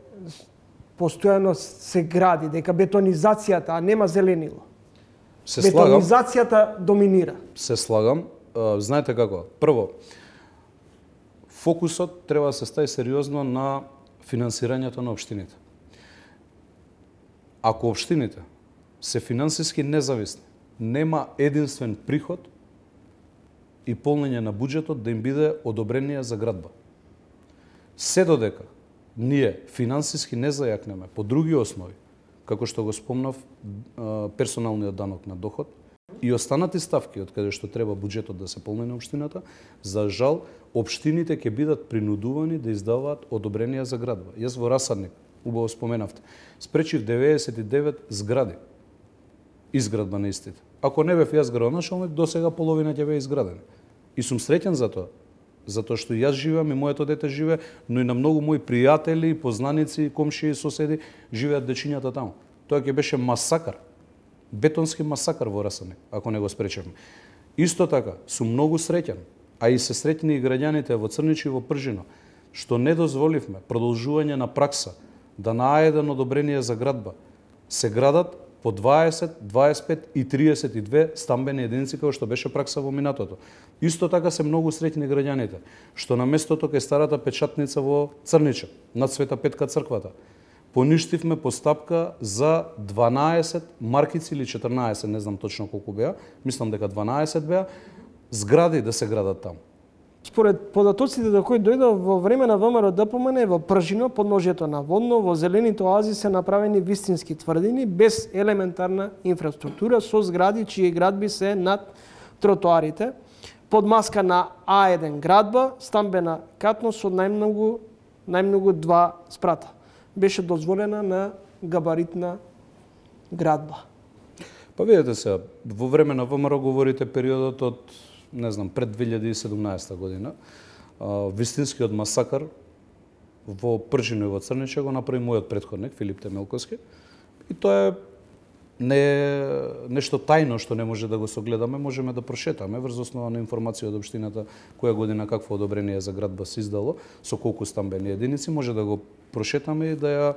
постојано се гради, дека бетонизацијата, а нема зеленило? Се слагам. Бетонизацијата доминира. Се слагам. Знаете како? Прво, фокусот треба да се стави сериозно на финансирањето на општините. Ако општините се финансиски независни, нема единствен приход и полнење на буџетот да им биде одобрение за градба. Се додека ние финансиски не зајакнеме по други основи, како што го спомнав, персоналниот данок на доход и останати ставки од каде што треба буџетот да се полни на општината, за жал, општините ќе бидат принудувани да издаваат одобренија за градба. Јас во Расадник, убаво споменавте, спречив 99 згради изградба на истите. Ако не бев јас градоначалник, до сега половина ќе беа изградени. И сум среќен за тоа. Затоа што јас живеам и моето дете живее, но и на многу мои пријатели, познаници, комшии и соседи живеат дечињата таму. Тоа ќе беше масакар. Бетонски масакар во Расадник, ако не го спречевме. Исто така, сум многу среќен, а и се среќни и граѓаните во Црнич и во Пржино, што не дозволивме продолжување на пракса да на А1 одобрение за градба се градат по 20, 25 и 32 стамбени единици, како што беше пракса во минатото. Исто така се многу среќни граѓаните, што на местото кај старата печатница во Црнича, над Света Петка црквата, поништивме постапка за 12 маркици или 14, не знам точно колку беа, мислам дека 12 беа, згради да се градат таму. Според податоците до кои дојдо во време на ВМРО-ДПМН во Пржино, подножјето на Водно, во зелените оази се направени вистински тврдини без елементарна инфраструктура, со згради чии градби се над тротоарите, под маска на А1 градба, стамбена катност со најмногу 2 спрата. Беше дозволена на габаритна градба. Па видете се, во време на ВМРО говорите периодот од, не знам, пред 2017 година. Вистинскиот масакар во Пржино и во Црниче го направи мојот претходник, Филип Темелковски. И тоа е не нешто тајно што не може да го согледаме, можеме да прошетаме врз основа на информација од општината која година какво одобрение за градба се издало, со колку стамбени единици, може да го прошетаме и да ја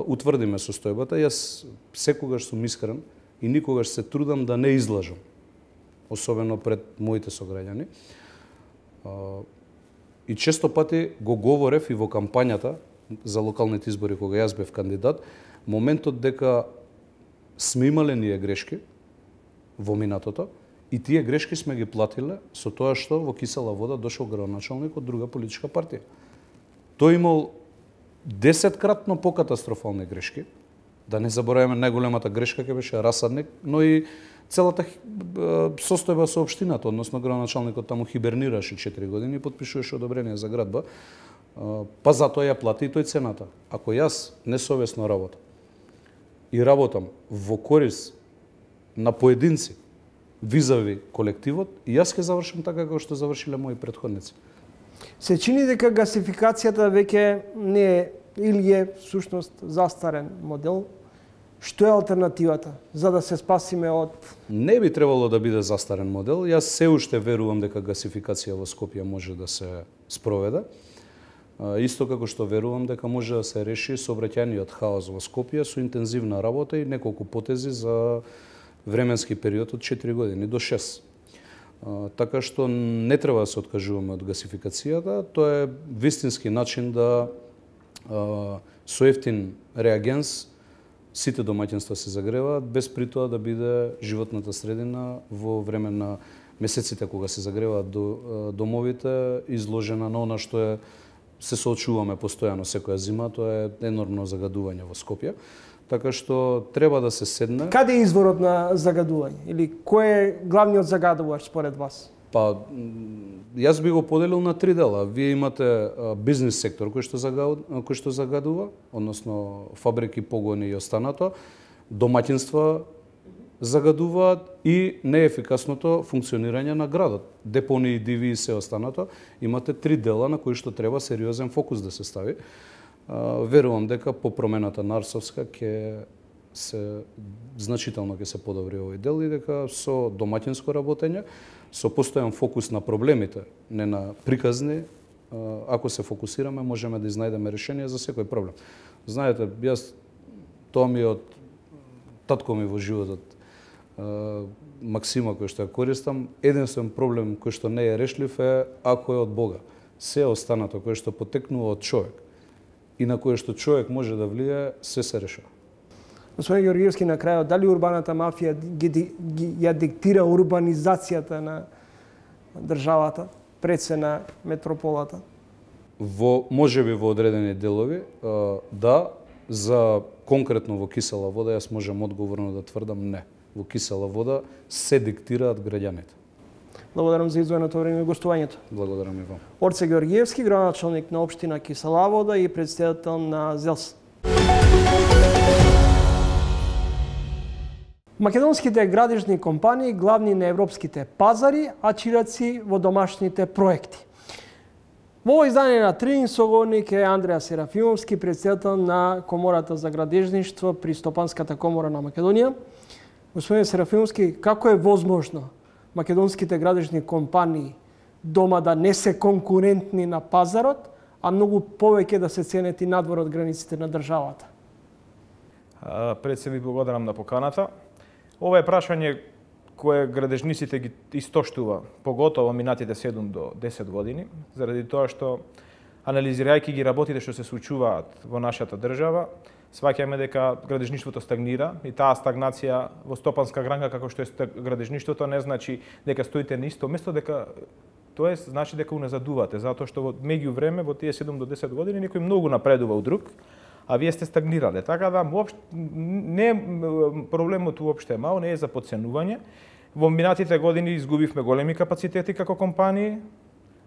утврдиме состојбата. Јас секогаш сум искрен и никогаш се трудам да не излажам, особено пред моите сограѓани. И често пати го говорев и во кампањата за локалните избори кога јас бев кандидат, моментот дека сме имале ние грешки во минатото и тие грешки сме ги платиле со тоа што во кисела вода дошол градоначалник од друга политичка партија. Тој имал 10-кратно покатастрофални грешки. Да не забораваме, најголемата грешка ќе беше Расадник, но и целата состојба со општината, односно градоначалникот таму хибернираше 4 години и потпишуваше одобрение за градба, па затоа ја плати и тој цената. Ако јас несовесно работам и работам во корис на поединци визави колективот, и јас ќе завршам така како што завршиле мои претходници. Се чини дека гасификацијата веќе не е или е всушност застарен модел. Што е алтернативата за да се спасиме од... Не би требало да биде застарен модел. Јас се уште верувам дека гасификација во Скопје може да се спроведе. Исто како што верувам дека може да се реши сообраќајниот хаос во Скопје со интензивна работа и неколку потези за временски период од 4 години до 6. Така што не треба да се откажуваме од гасификацијата. Тоа е вистински начин да со ефтин реагенс сите домаќинства се загреваат, без при тоа да биде животната средина во време на месеците кога се загреваат домовите изложена на она што е се соочуваме постојано секоја зима, тоа е енормно загадување во Скопје. Така што треба да се седне. Каде е изворот на загадување? Или кој е главниот загадувач според вас? Па, јас би го поделил на 3 дела. Вие имате бизнес сектор кој што загадува, односно фабрики, погони и останато, домаќинства загадуваат и неефикасното функционирање на градот. Депонии, диви и се останато. Имате 3 дела на кои што треба сериозен фокус да се стави. Верувам дека по промената на Арсовска значително ќе се подобри овој дел и дека со домаќинско работење, со постојан фокус на проблемите, не на приказни, ако се фокусираме, можеме да изнајдеме решение за секој проблем. Знаете, јас тоа ми од татко ми во животот максима кој што ја користам, единствен проблем кој што не е решлив е ако е од Бога. Се останато кој што потекнува од човек и на кое што човек може да влие, се решава. Господин Георгиевски, на крајот, дали урбаната мафија ја диктира урбанизацијата на државата, пред се на метрополата? Можеби во одредени делови, да, за конкретно во кисела вода, јас можам одговорно да тврдам не. Во кисела вода се диктираат граѓаните. Благодарам за издвоеното време и гостувањето. Благодарам и вам. Орце Георгиевски, градоначалник на општина Кисела вода и претседател на ЗЕЛС. Македонските градежни компании главни на европските пазари, а чираци во домашните проекти. Во ово издание на Трин соговорник е Андреа Серафимовски, претседател на Комората за градежништво при Стопанската комора на Македонија. Господин Серафимовски, како е возможно македонските градежни компании дома да не се конкурентни на пазарот, а многу повеќе да се ценети надвор од границите на државата? Пред се ви благодарам на поканата. Ова е прашање кое градежниците ги истоштува, поготово минатите 7 до 10 години, заради тоа што, анализирајќи ги работите што се случуваат во нашата држава, сваќаме дека градежништвото стагнира и таа стагнација во стопанска гранка како што е градежништвото не значи дека стоите на исто место, дека тоа значи дека уназадувате, затоа што во меѓувреме во тие 7 до 10 години некој многу напредува од друг, а вие сте стагнирале. Така да не проблемот уопште е мал, не е за подценување. Во минатите години изгубивме големи капацитети како компании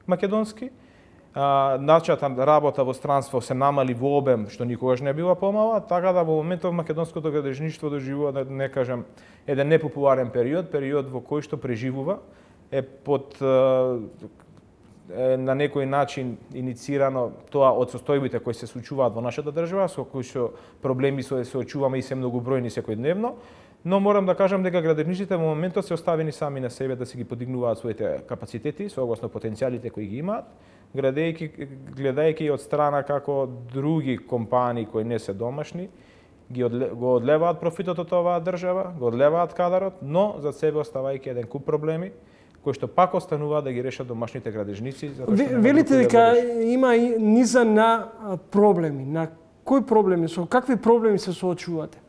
македонски. Начата работа во странство се намали во обем, што никогаш не била помала, така да во моментов македонското градежништво доживува, да не кажам, еден непопуларен период во кој што преживува, е под на некој начин иницирано тоа од состојбите кои се случуваат во нашата држава, со кои што проблеми се очуваме и се многобројни секојдневно, но морам да кажам дека градежниците во моментот се оставени сами на себе да си ги подигнуваат своите капацитети, согласно потенцијалите кои ги имаат, гледајќи од страна како други компании кои не се домашни, го одлеваат профитот од оваа држава, го одлеваат кадарот, но за себе оставајќи еден куп проблеми, кои што пак остануваат да ги решат домашните градежници. Велите дека има низа на проблеми. На кои проблеми? Со какви проблеми се соочувате?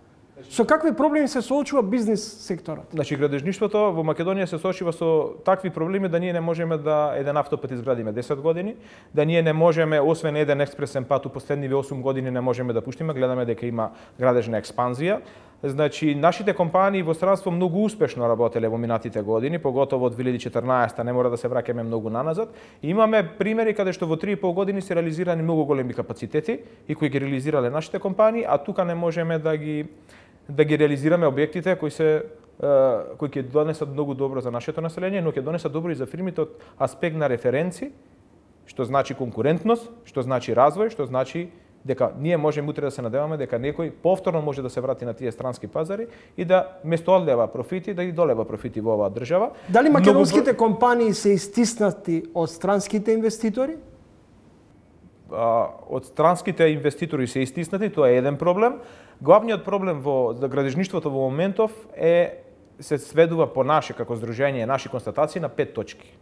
Со какви проблеми се соочува бизнис секторот? Значи, градежништвото во Македонија се соочува со такви проблеми да ние не можеме да еден автопат изградиме 10 години, да ние не можеме, освен еден експресен пат у последниве 8 години не можеме да пуштиме, гледаме дека има градежна експанзија. Значи, нашите компании во странство многу успешно работеле во минатите години, поготово од 2014, не мора да се враќаме многу наназад. И имаме примери каде што во 3,5 години се реализирани многу големи капацитети и кои ги реализирале нашите компании, а тука не можеме да ги реализираме објектите кои ќе донесат многу добро за нашето население, но ќе донесат добро и за фирмите од аспект на референци, што значи конкурентност, што значи развој, што значи дека ние можеме утре да се надеваме дека некој повторно може да се врати на тие странски пазари и да место одлева профити, да ги долева профити во оваа држава. Дали македонските компании се истиснати од странските инвеститори? Од странските инвеститори се истиснати, тоа е еден проблем. Главниот проблем во градежништвото во моментов се сведува по наше како здружение, наши констатации на 5 точки.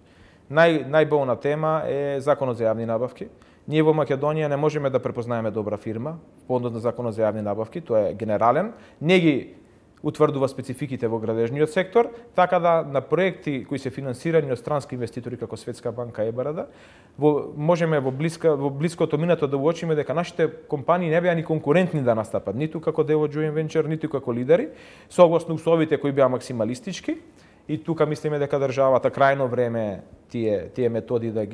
Најболна тема е законот за јавни набавки. Ние во Македонија не можеме да препознаеме добра фирма по однос на законот за јавни набавки, тоа е генерален. Не ги утврдува спецификите во градежниот сектор, така да на проекти кои се финансирани од странски инвеститори како Светска банка, ЕБРД, можеме во блиското минато да уочиме дека нашите компании не беа ни конкурентни да настапат, ниту како дел од joint venture, ниту како лидери, согласно условите кои беа максималистички. И тука мислиме дека државата крајно време тие методи да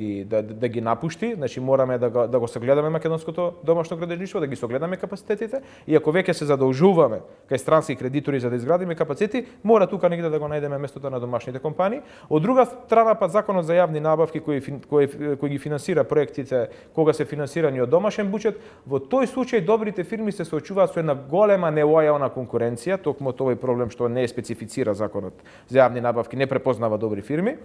ги напушти, значи мораме да го согледаме македонското домашно градежништво, да ги согледаме капацитетите и ако веќе се задолжуваме кај странски кредитори за да изградиме капацитети, мора тука негде да го најдеме местото на домашните компании. Од друга страна па законот за јавни набавки кој ги финансира проектите кога се финансирани од домашен буџет, во тој случај добрите фирми се соочуваат со една голема нелојална конкуренција, токму овој проблем што не е специфицира законот за јавни набавки, не препознава добри фирми.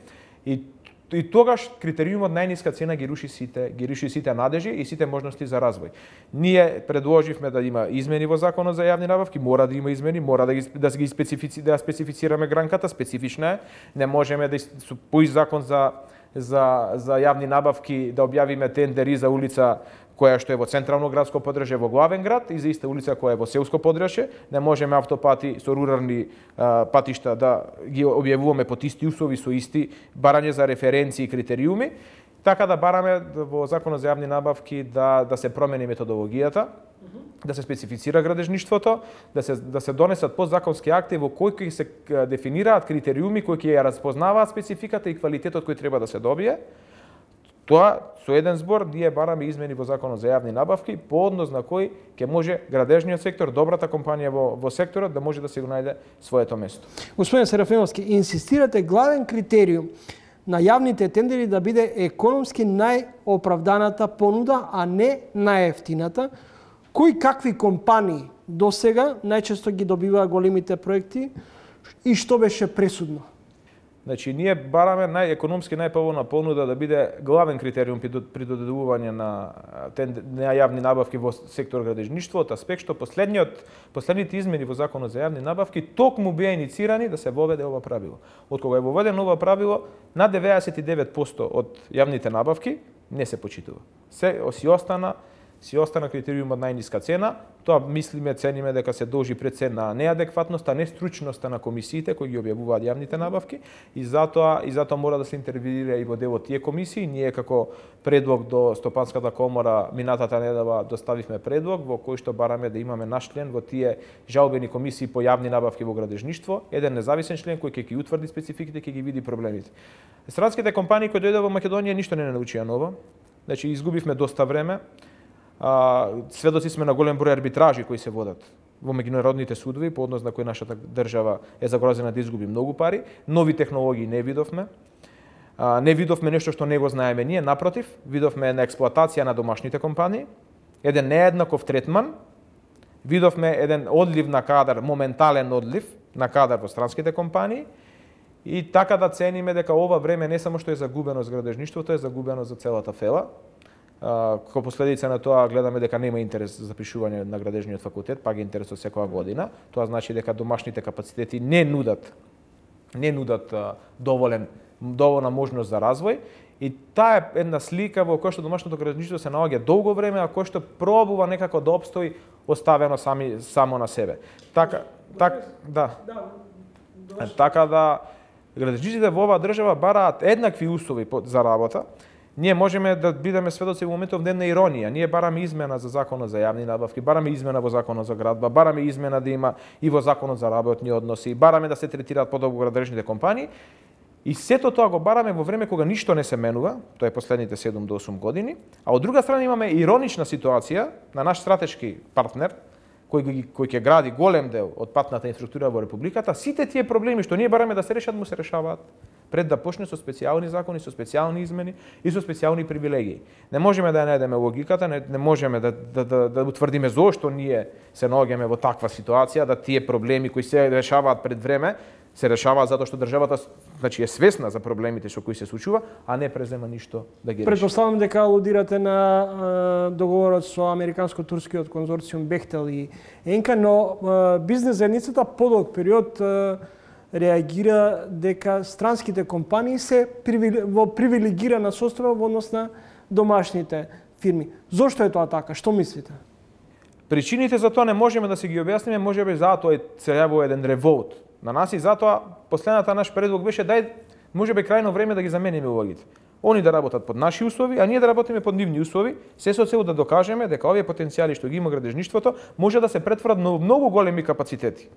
И И тогаш критериумот најниска цена ги руши сите надежи и сите можности за развој. Ние предложивме да има измени во Законот за јавни набавки, мора да има измени, мора да специфицираме гранката, специфична е. Не можеме да по закон за јавни набавки да објавиме тендери за улица која што е во централно градско подржје во главен град и за иста улица која е во селско подржје. Не можеме автопати со рурални патишта да ги објавуваме под исти услови со исти барање за референции и критериуми. Така да бараме во Законот за јавни набавки да се промени методологијата, да се специфицира градежништвото, да се донесат подзаконски акти во кои ќе се дефинираат критериуми кои ќе ја разпознаваат спецификата и квалитетот кој треба да се добие. Тоа со еден збор ние бараме измени во Законот за јавни набавки по однос на кој ќе може градежниот сектор, добрата компанија во секторот да може да се го најде своето место. Господин Серафимовски, инсистирате главен критериум на јавните тендери да биде економски најоправданата понуда, а не најефтината. Кои какви компании досега најчесто ги добиваа големите проекти и што беше пресудно? Значи, ние бараме економски најповолна понуда да биде главен критериум при додедување на јавни набавки во сектор градежништво, од аспект што последните измени во Законот за јавни набавки токму беа иницирани да се воведе ова правило. Од кога е воведено ова правило, на 99% од јавните набавки не се почитува. Си остана критериумот најниска цена. Тоа цениме дека се должи пред се на неадекватноста, нестручноста на комисиите кои ги објавуваат јавните набавки и затоа мора да се интервенира и во делот тие комисии. Ние како предлог до Стопанската комора минатата недела доставивме предлог во кој што бараме да имаме наш член во тие жалбени комисии по јавни набавки во градежништво, еден независен член кој ќе ги утврди спецификите, ќе ги види проблемите. Странските компании кои дојдоа во Македонија ништо не научија ново. Значи изгубивме доста време. Сведоци сме на голем број арбитражи кои се водат во меѓународните судови по однос на кои нашата држава е загрозена да изгуби многу пари. Нови технологии не видовме. Не видовме нешто што не го знаеме ние, напротив, видовме една експлоатација на домашните компании, еден нееднаков третман, видовме еден одлив на кадар, моментален одлив на кадар во странските компании и така да цениме дека ова време не само што е загубено за градежништвото, е загубено за целата фела. Како последица на тоа гледаме дека нема интерес за запишување на градежниот факултет, па ги интересот секоја година. Тоа значи дека домашните капацитети не нудат доволна можност за развој и таа е една слика во која што домашното градежништво се наоѓа долго време, а кој што пробува некако да опстои оставено само на себе. Така да градежниците во оваа држава бараат еднакви услови за работа. Ние можеме да бидеме сведоци во моментов на една иронија. Ние бараме измена за Законот за јавни набавки, бараме измена во Законот за градба, бараме измена да има и во Законот за работни односи, бараме да се третираат подобро градежните компании. И сето тоа го бараме во време кога ништо не се менува, тоа е последните 7 до 8 години, а од друга страна имаме иронична ситуација на наш стратешки партнер, кој ќе гради голем дел од патната инфраструктура во републиката. Сите тие проблеми што ние бараме да се решат, му се решаваат пред да почне со специјални закони, со специјални измени и со специјални привилегии. Не можеме да ја најдеме логиката, не можеме да утврдиме зошто ние се наоѓаме во таква ситуација, да тие проблеми кои се решаваат пред време, се решаваат затоа што државата е свесна за проблемите со кои се случува, а не презема ништо да ги реши. Претпоставам дека алудирате на договорот со американско-турскиот конзорциум Бехтел и Енка, но бизнес заедницата подолг период реагира дека странските компании се во привилегирана состојба во однос на домашните фирми. Зошто е тоа така? Што мислите? Причините за тоа не можеме да се ги објасниме, можеби затоа се јавува еден револт на нас и затоа последната наш предлог беше можеби крајно време да ги замениме улогите. Они да работат под наши услови, а ние да работиме под нивни услови, се со цел да докажеме дека овие потенцијали што ги има градежништвото може да се претворат на многу големи капацитети.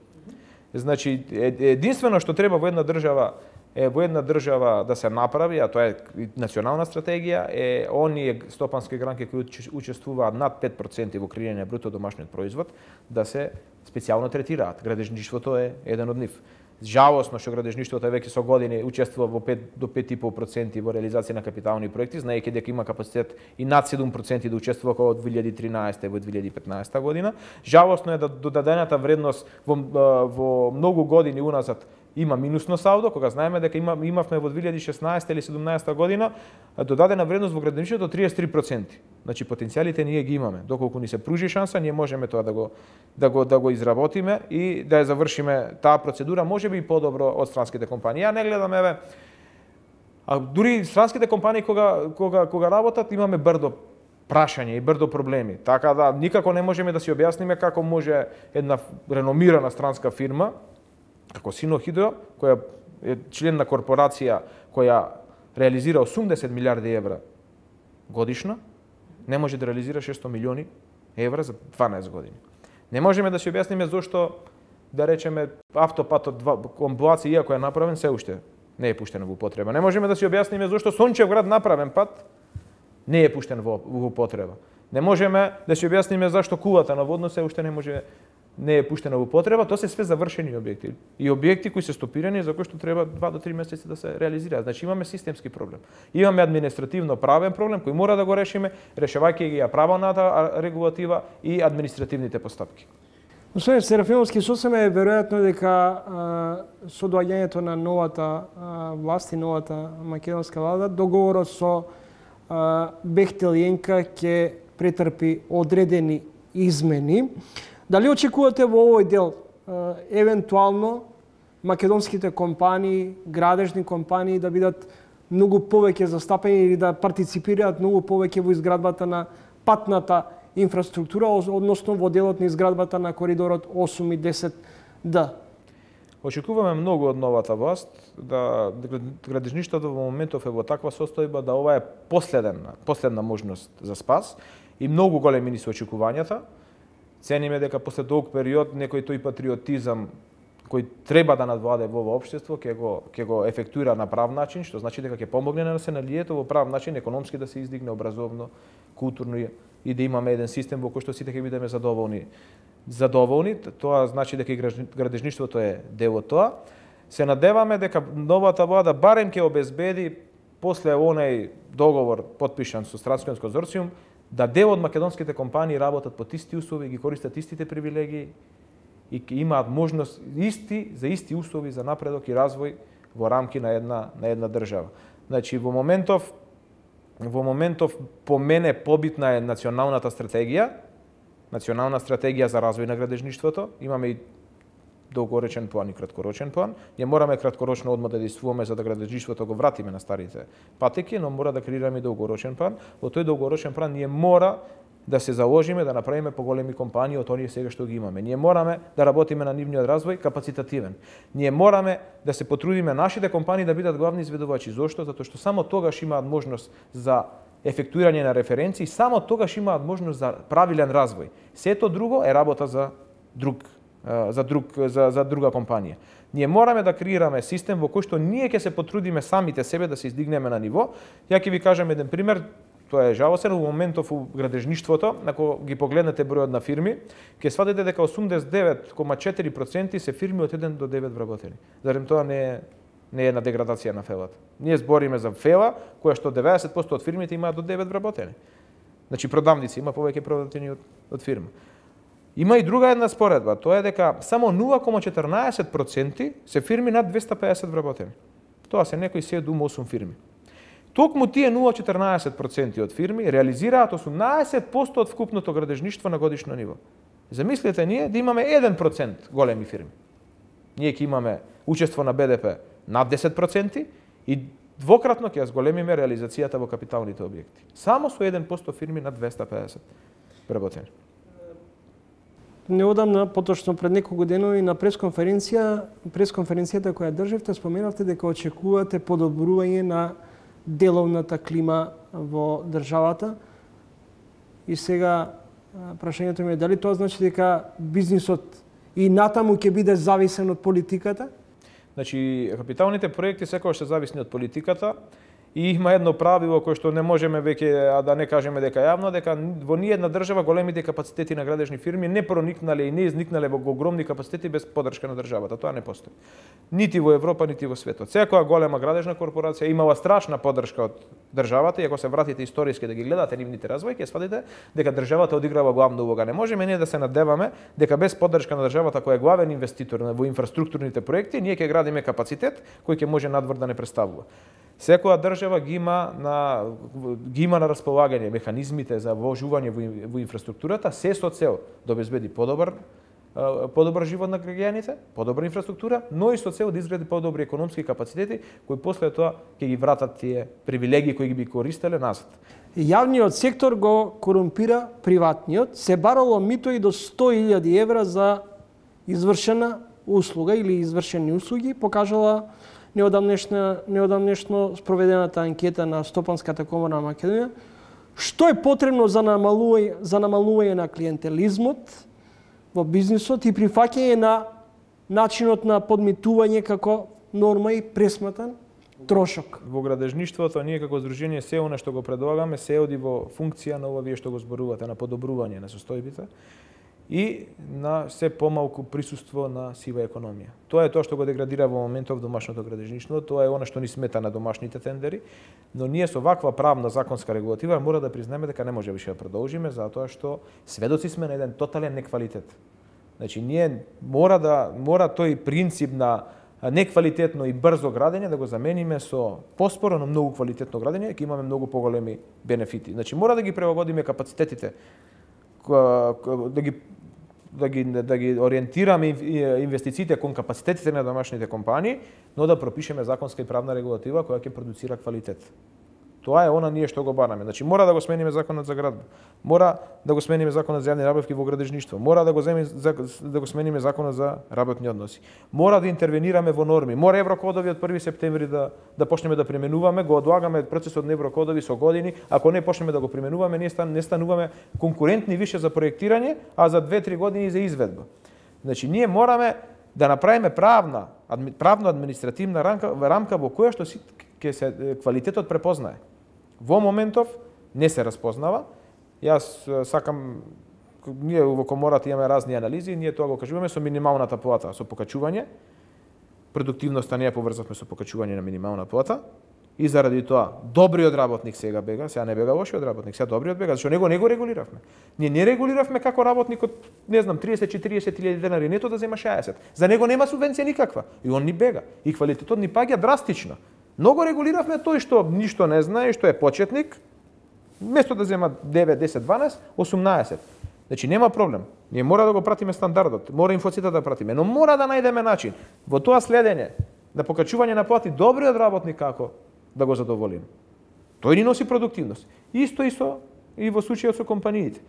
Значи, единствено што треба во една држава да се направи, а тоа е национална стратегија, е оние стопански гранки кои учествуваат над 5% во креирање на бруто домашниот производ, да се специјално третираат. Градежништвото е еден од нив. Жалосно што градежништвото веќе со години учествува во 5 до 5,5% во реализација на капитални проекти, знаејќи дека има капацитет и над 7% да учествува од 2013 во 2015 година. Жалосно е да додадената вредност во многу години уназад има минусно салдо, кога знаеме дека имавме во 2016 или 2017 година додадена вредност во градежништвото 33%. Значи потенцијалите ние ги имаме. Доколку ни се пружи шанса, ние можеме тоа да го изработиме и да ја завршиме таа процедура, можеби и подобро од странските компании. Ја не гледам а дури странските компании кога работат имаме брдо прашање и брдо проблеми. Така да никако не можеме да си објасниме како може една реномирана странска фирма како Синохидро, која е член на корпорација која реализира 80 милиарди евра годишно, не може да реализира 600 милиони евра за 12 години. Не можеме да си објасниме зошто, да речеме, автопатот Комбоаци, иако е направен, се уште не е пуштен во употреба. Не можеме да си објасниме зошто Сончевград направен пат не е пуштен во употреба. Не можеме да си објасниме зашто кулата на Водно се уште не е пуштена во употреба. Тоа се све завршени објекти. И објекти кои се стопирани за кои што треба 2 до 3 месеци да се реализираат. Значи имаме системски проблем. Имаме административно правен проблем кој мора да го решиме, решавајќи ги ја правната регулатива и административните постапки. Господин Серафимовски, сосем е веројатно дека со доаѓањето на новата власт и новата македонска влада, договорот со Бехтел и ЕНКА ќе претрпи одредени измени. Дали очекувате во овој дел евентуално македонските компании, градежни компании да бидат многу повеќе застапени или да партиципираат многу повеќе во изградбата на патната инфраструктура, односно во делот на изградбата на коридорот 8 и 10Д? Очекуваме многу од новата власт, да градежништвото во моментов е во таква состојба да ова е последна можност за спас и многу големи ни се очекувањата. Цениме дека после долг период некој тој патриотизам кој треба да надвладе во ова општество ќе го ефектуира на прав начин, што значи дека ќе помогне на населението во прав начин, економски да се издигне, образовно, културно и да имаме еден систем во кој што сите ќе бидеме задоволни. Тоа значи дека и градежништвото е дел од тоа. Се надеваме дека новата влада барем ќе обезбеди после онај договор потпишан со Стратскиот конзорциум да дел од македонските компании работат под исти услови, ги користат истите привилегии и имаат можност за исти услови за напредок и развој во рамки на една држава. Значи во моментов по мене побитна е националната стратегија, национална стратегија за развој на градежништвото. Имаме и долгорочен план и краткорочен план. Ние мораме краткорочно одма да действуваме за да градежништвото го вратиме на старите патеки, но мора да креираме и долгорочен план. Во тој долгорочен план ние мора да се заложиме да направиме поголеми компании од оние сега што ги имаме. Ние мораме да работиме на нивниот развој капацитативен. Ние мораме да се потрудиме нашите компании да бидат главни изведувачи. Зошто? Затоа што само тогаш имаат можност за ефектуирање на референции, само тогаш имаат можност за правилен развој. Сето друго е работа за друга компанија. Ние мораме да креираме систем во кој што ние ќе се потрудиме самите себе да се издигнеме на ниво. Ја ќе ви кажам еден пример. Тоа е жалостен во моментов у градежништвото, ако ги погледнете бројот на фирми, ќе сватите дека 89,4% се фирми од 1 до 9 вработени. Зарем тоа не е една деградација на фелата. Ние збориме за фела која што 90% од фирмите имаат до 9 вработени. Значи продавници има повеќе продавници од фирма. Има и друга една споредба, тоа е дека само 0,14% се фирми над 250 вработени. Тоа се некои 7-8 фирми. Токму тие 0,14% од фирми реализираат 18% од вкупното градежништво на годишно ниво. Замислете ние да имаме 1% големи фирми. Ние ќе имаме учество на БДП над 10% и двократно ќе ја зголемиме реализацијата во капиталните објекти. Само со 1% фирми над 250 вработени. Неодамна, поточно пред неколку денови на пресконференцијата која држевте, споменавте дека очекувате подобрување на деловната клима во државата. И сега прашањето ми е дали тоа значи дека бизнисот и натаму ќе биде зависен од политиката? Значи, капиталните проекти секогаш се зависни од политиката И има едно правило кое што не можеме веќе да не кажеме дека јавно, дека во ниедна држава големите капацитети на градежни фирми не проникнале и не изникнале во огромни капацитети без поддршка на државата. Тоа не постои. Нити во Европа, нити во светот. Секоја голема градежна корпорација имала страшна поддршка од државата и ако се вратите историски да ги гледате нивните развои, ќе сватите дека државата одиграва главна улога. Не можеме ние да се надеваме дека без поддршка на државата која е главен инвеститор во инфраструктурните проекти, ние ќе градиме капацитет кој ќе може надвор да не представува. Секоја држава ги има на располагање механизмите за вложување во инфраструктурата, се со цел да обезбеди подобар живот на граѓаните, подобра инфраструктура, но и со цел да изгради подобри економски капацитети кои после тоа ќе ги вратат тие привилегии кои ги би користеле назад. Јавниот сектор го корумпира приватниот, се барало мито и до 100.000 евра за извршена услуга или извршени услуги, покажала неодамнешно спроведената анкета на Стопанската комора на Македонија. Што е потребно за намалување на клиентелизмот во бизнисот и прифаќање на начинот на подмитување како норма и пресматан трошок? Во градежништвото ние како здружение се она што го предлагаме се оди во функција на ова вие што го зборувате, на подобрување на состојбите и на се помалку присуство на сива економија. Тоа е тоа што го деградира во моментов домашното градежништво, тоа е она што ни смета на домашните тендери, но ние со ваква правна законска регулатива мора да признеме дека не може више да продолжиме затоа што сведоци сме на еден тотален неквалитет. Значи ние мора тој принцип на неквалитетно и брзо градење да го замениме со поспоро на многу квалитетно градење, ќе имаме многу поголеми бенефити. Значи мора да ги прилагодиме капацитетите, да ги ориентираме инвестициите кон капацитетите на домашните компании, но да пропишеме законска и правна регулатива која ќе продуцира квалитет. Тоа е она ние што го бараме. Значи мора да го смениме законот за градба, мора да го смениме законот за јавни набавки во градежништво, мора да го смениме законот за работни односи. Мора да интервенираме во норми, мора еврокодови од 1 септември да почнеме да применуваме, го одлагаме процесот на еврокодови со години, ако не почнеме да го применуваме, не стануваме конкурентни више за проектирање, а за 2-3 години за изведба. Значи ние мораме да направиме правно-административна рамка во која што ќе се квалитетот препознае. Во моментов не се распознава. Јас сакам, ние во комората имаме разни анализи, ние тоа го кажуваме со минималната плата, со покачување. Продуктивноста не ја поврзавме со покачување на минимална плата. И заради тоа, добриот работник сега бега, сега не бега лошиот работник, сега добриот бега, зашто него не го регулиравме. Ние не регулиравме како работникот, не знам, 30-40.000 денари нето да зема 60. За него нема субвенција никаква. И он ни бега. И квалитетот ни паѓа драстично. Многу регулиравме тој што ништо не знае, што е почетник, место да зема 9, 10, 12, 18. Значи нема проблем. Ние мора да го пратиме стандардот, мора инфоцитата да пратиме, но мора да најдеме начин во тоа следење на покачување на плати добриот работник како да го задоволиме. Тој ни носи продуктивност. Исто и во случајот со компаниите.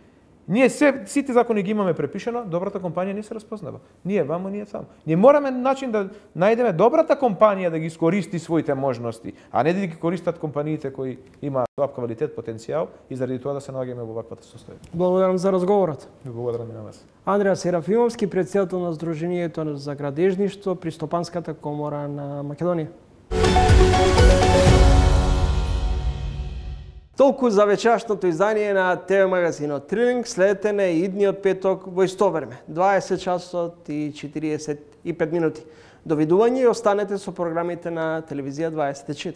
Ние сите закони ги имаме препишано, добрата компанија не се распознава. Ние вамо, ние таму. Ние мораме начин да најдеме добрата компанија да ги искористи своите можности, а не да ги користат компаниите кои имаат слаб квалитет, потенцијал и заради тоа да се наоѓаме во ваквата состојба. Благодарам за разговорот. Благодарам и на вас. Андреа Серафимовски, претседател на Сдруженијето за градежништво при Стопанската комора на Македонија. Толку за вечерашното издание на ТВ магазинот Трилинг. Следете на идниот петок во исто време, 20 часот и 45 минути. Довидување и останете со програмите на Телевизија 24.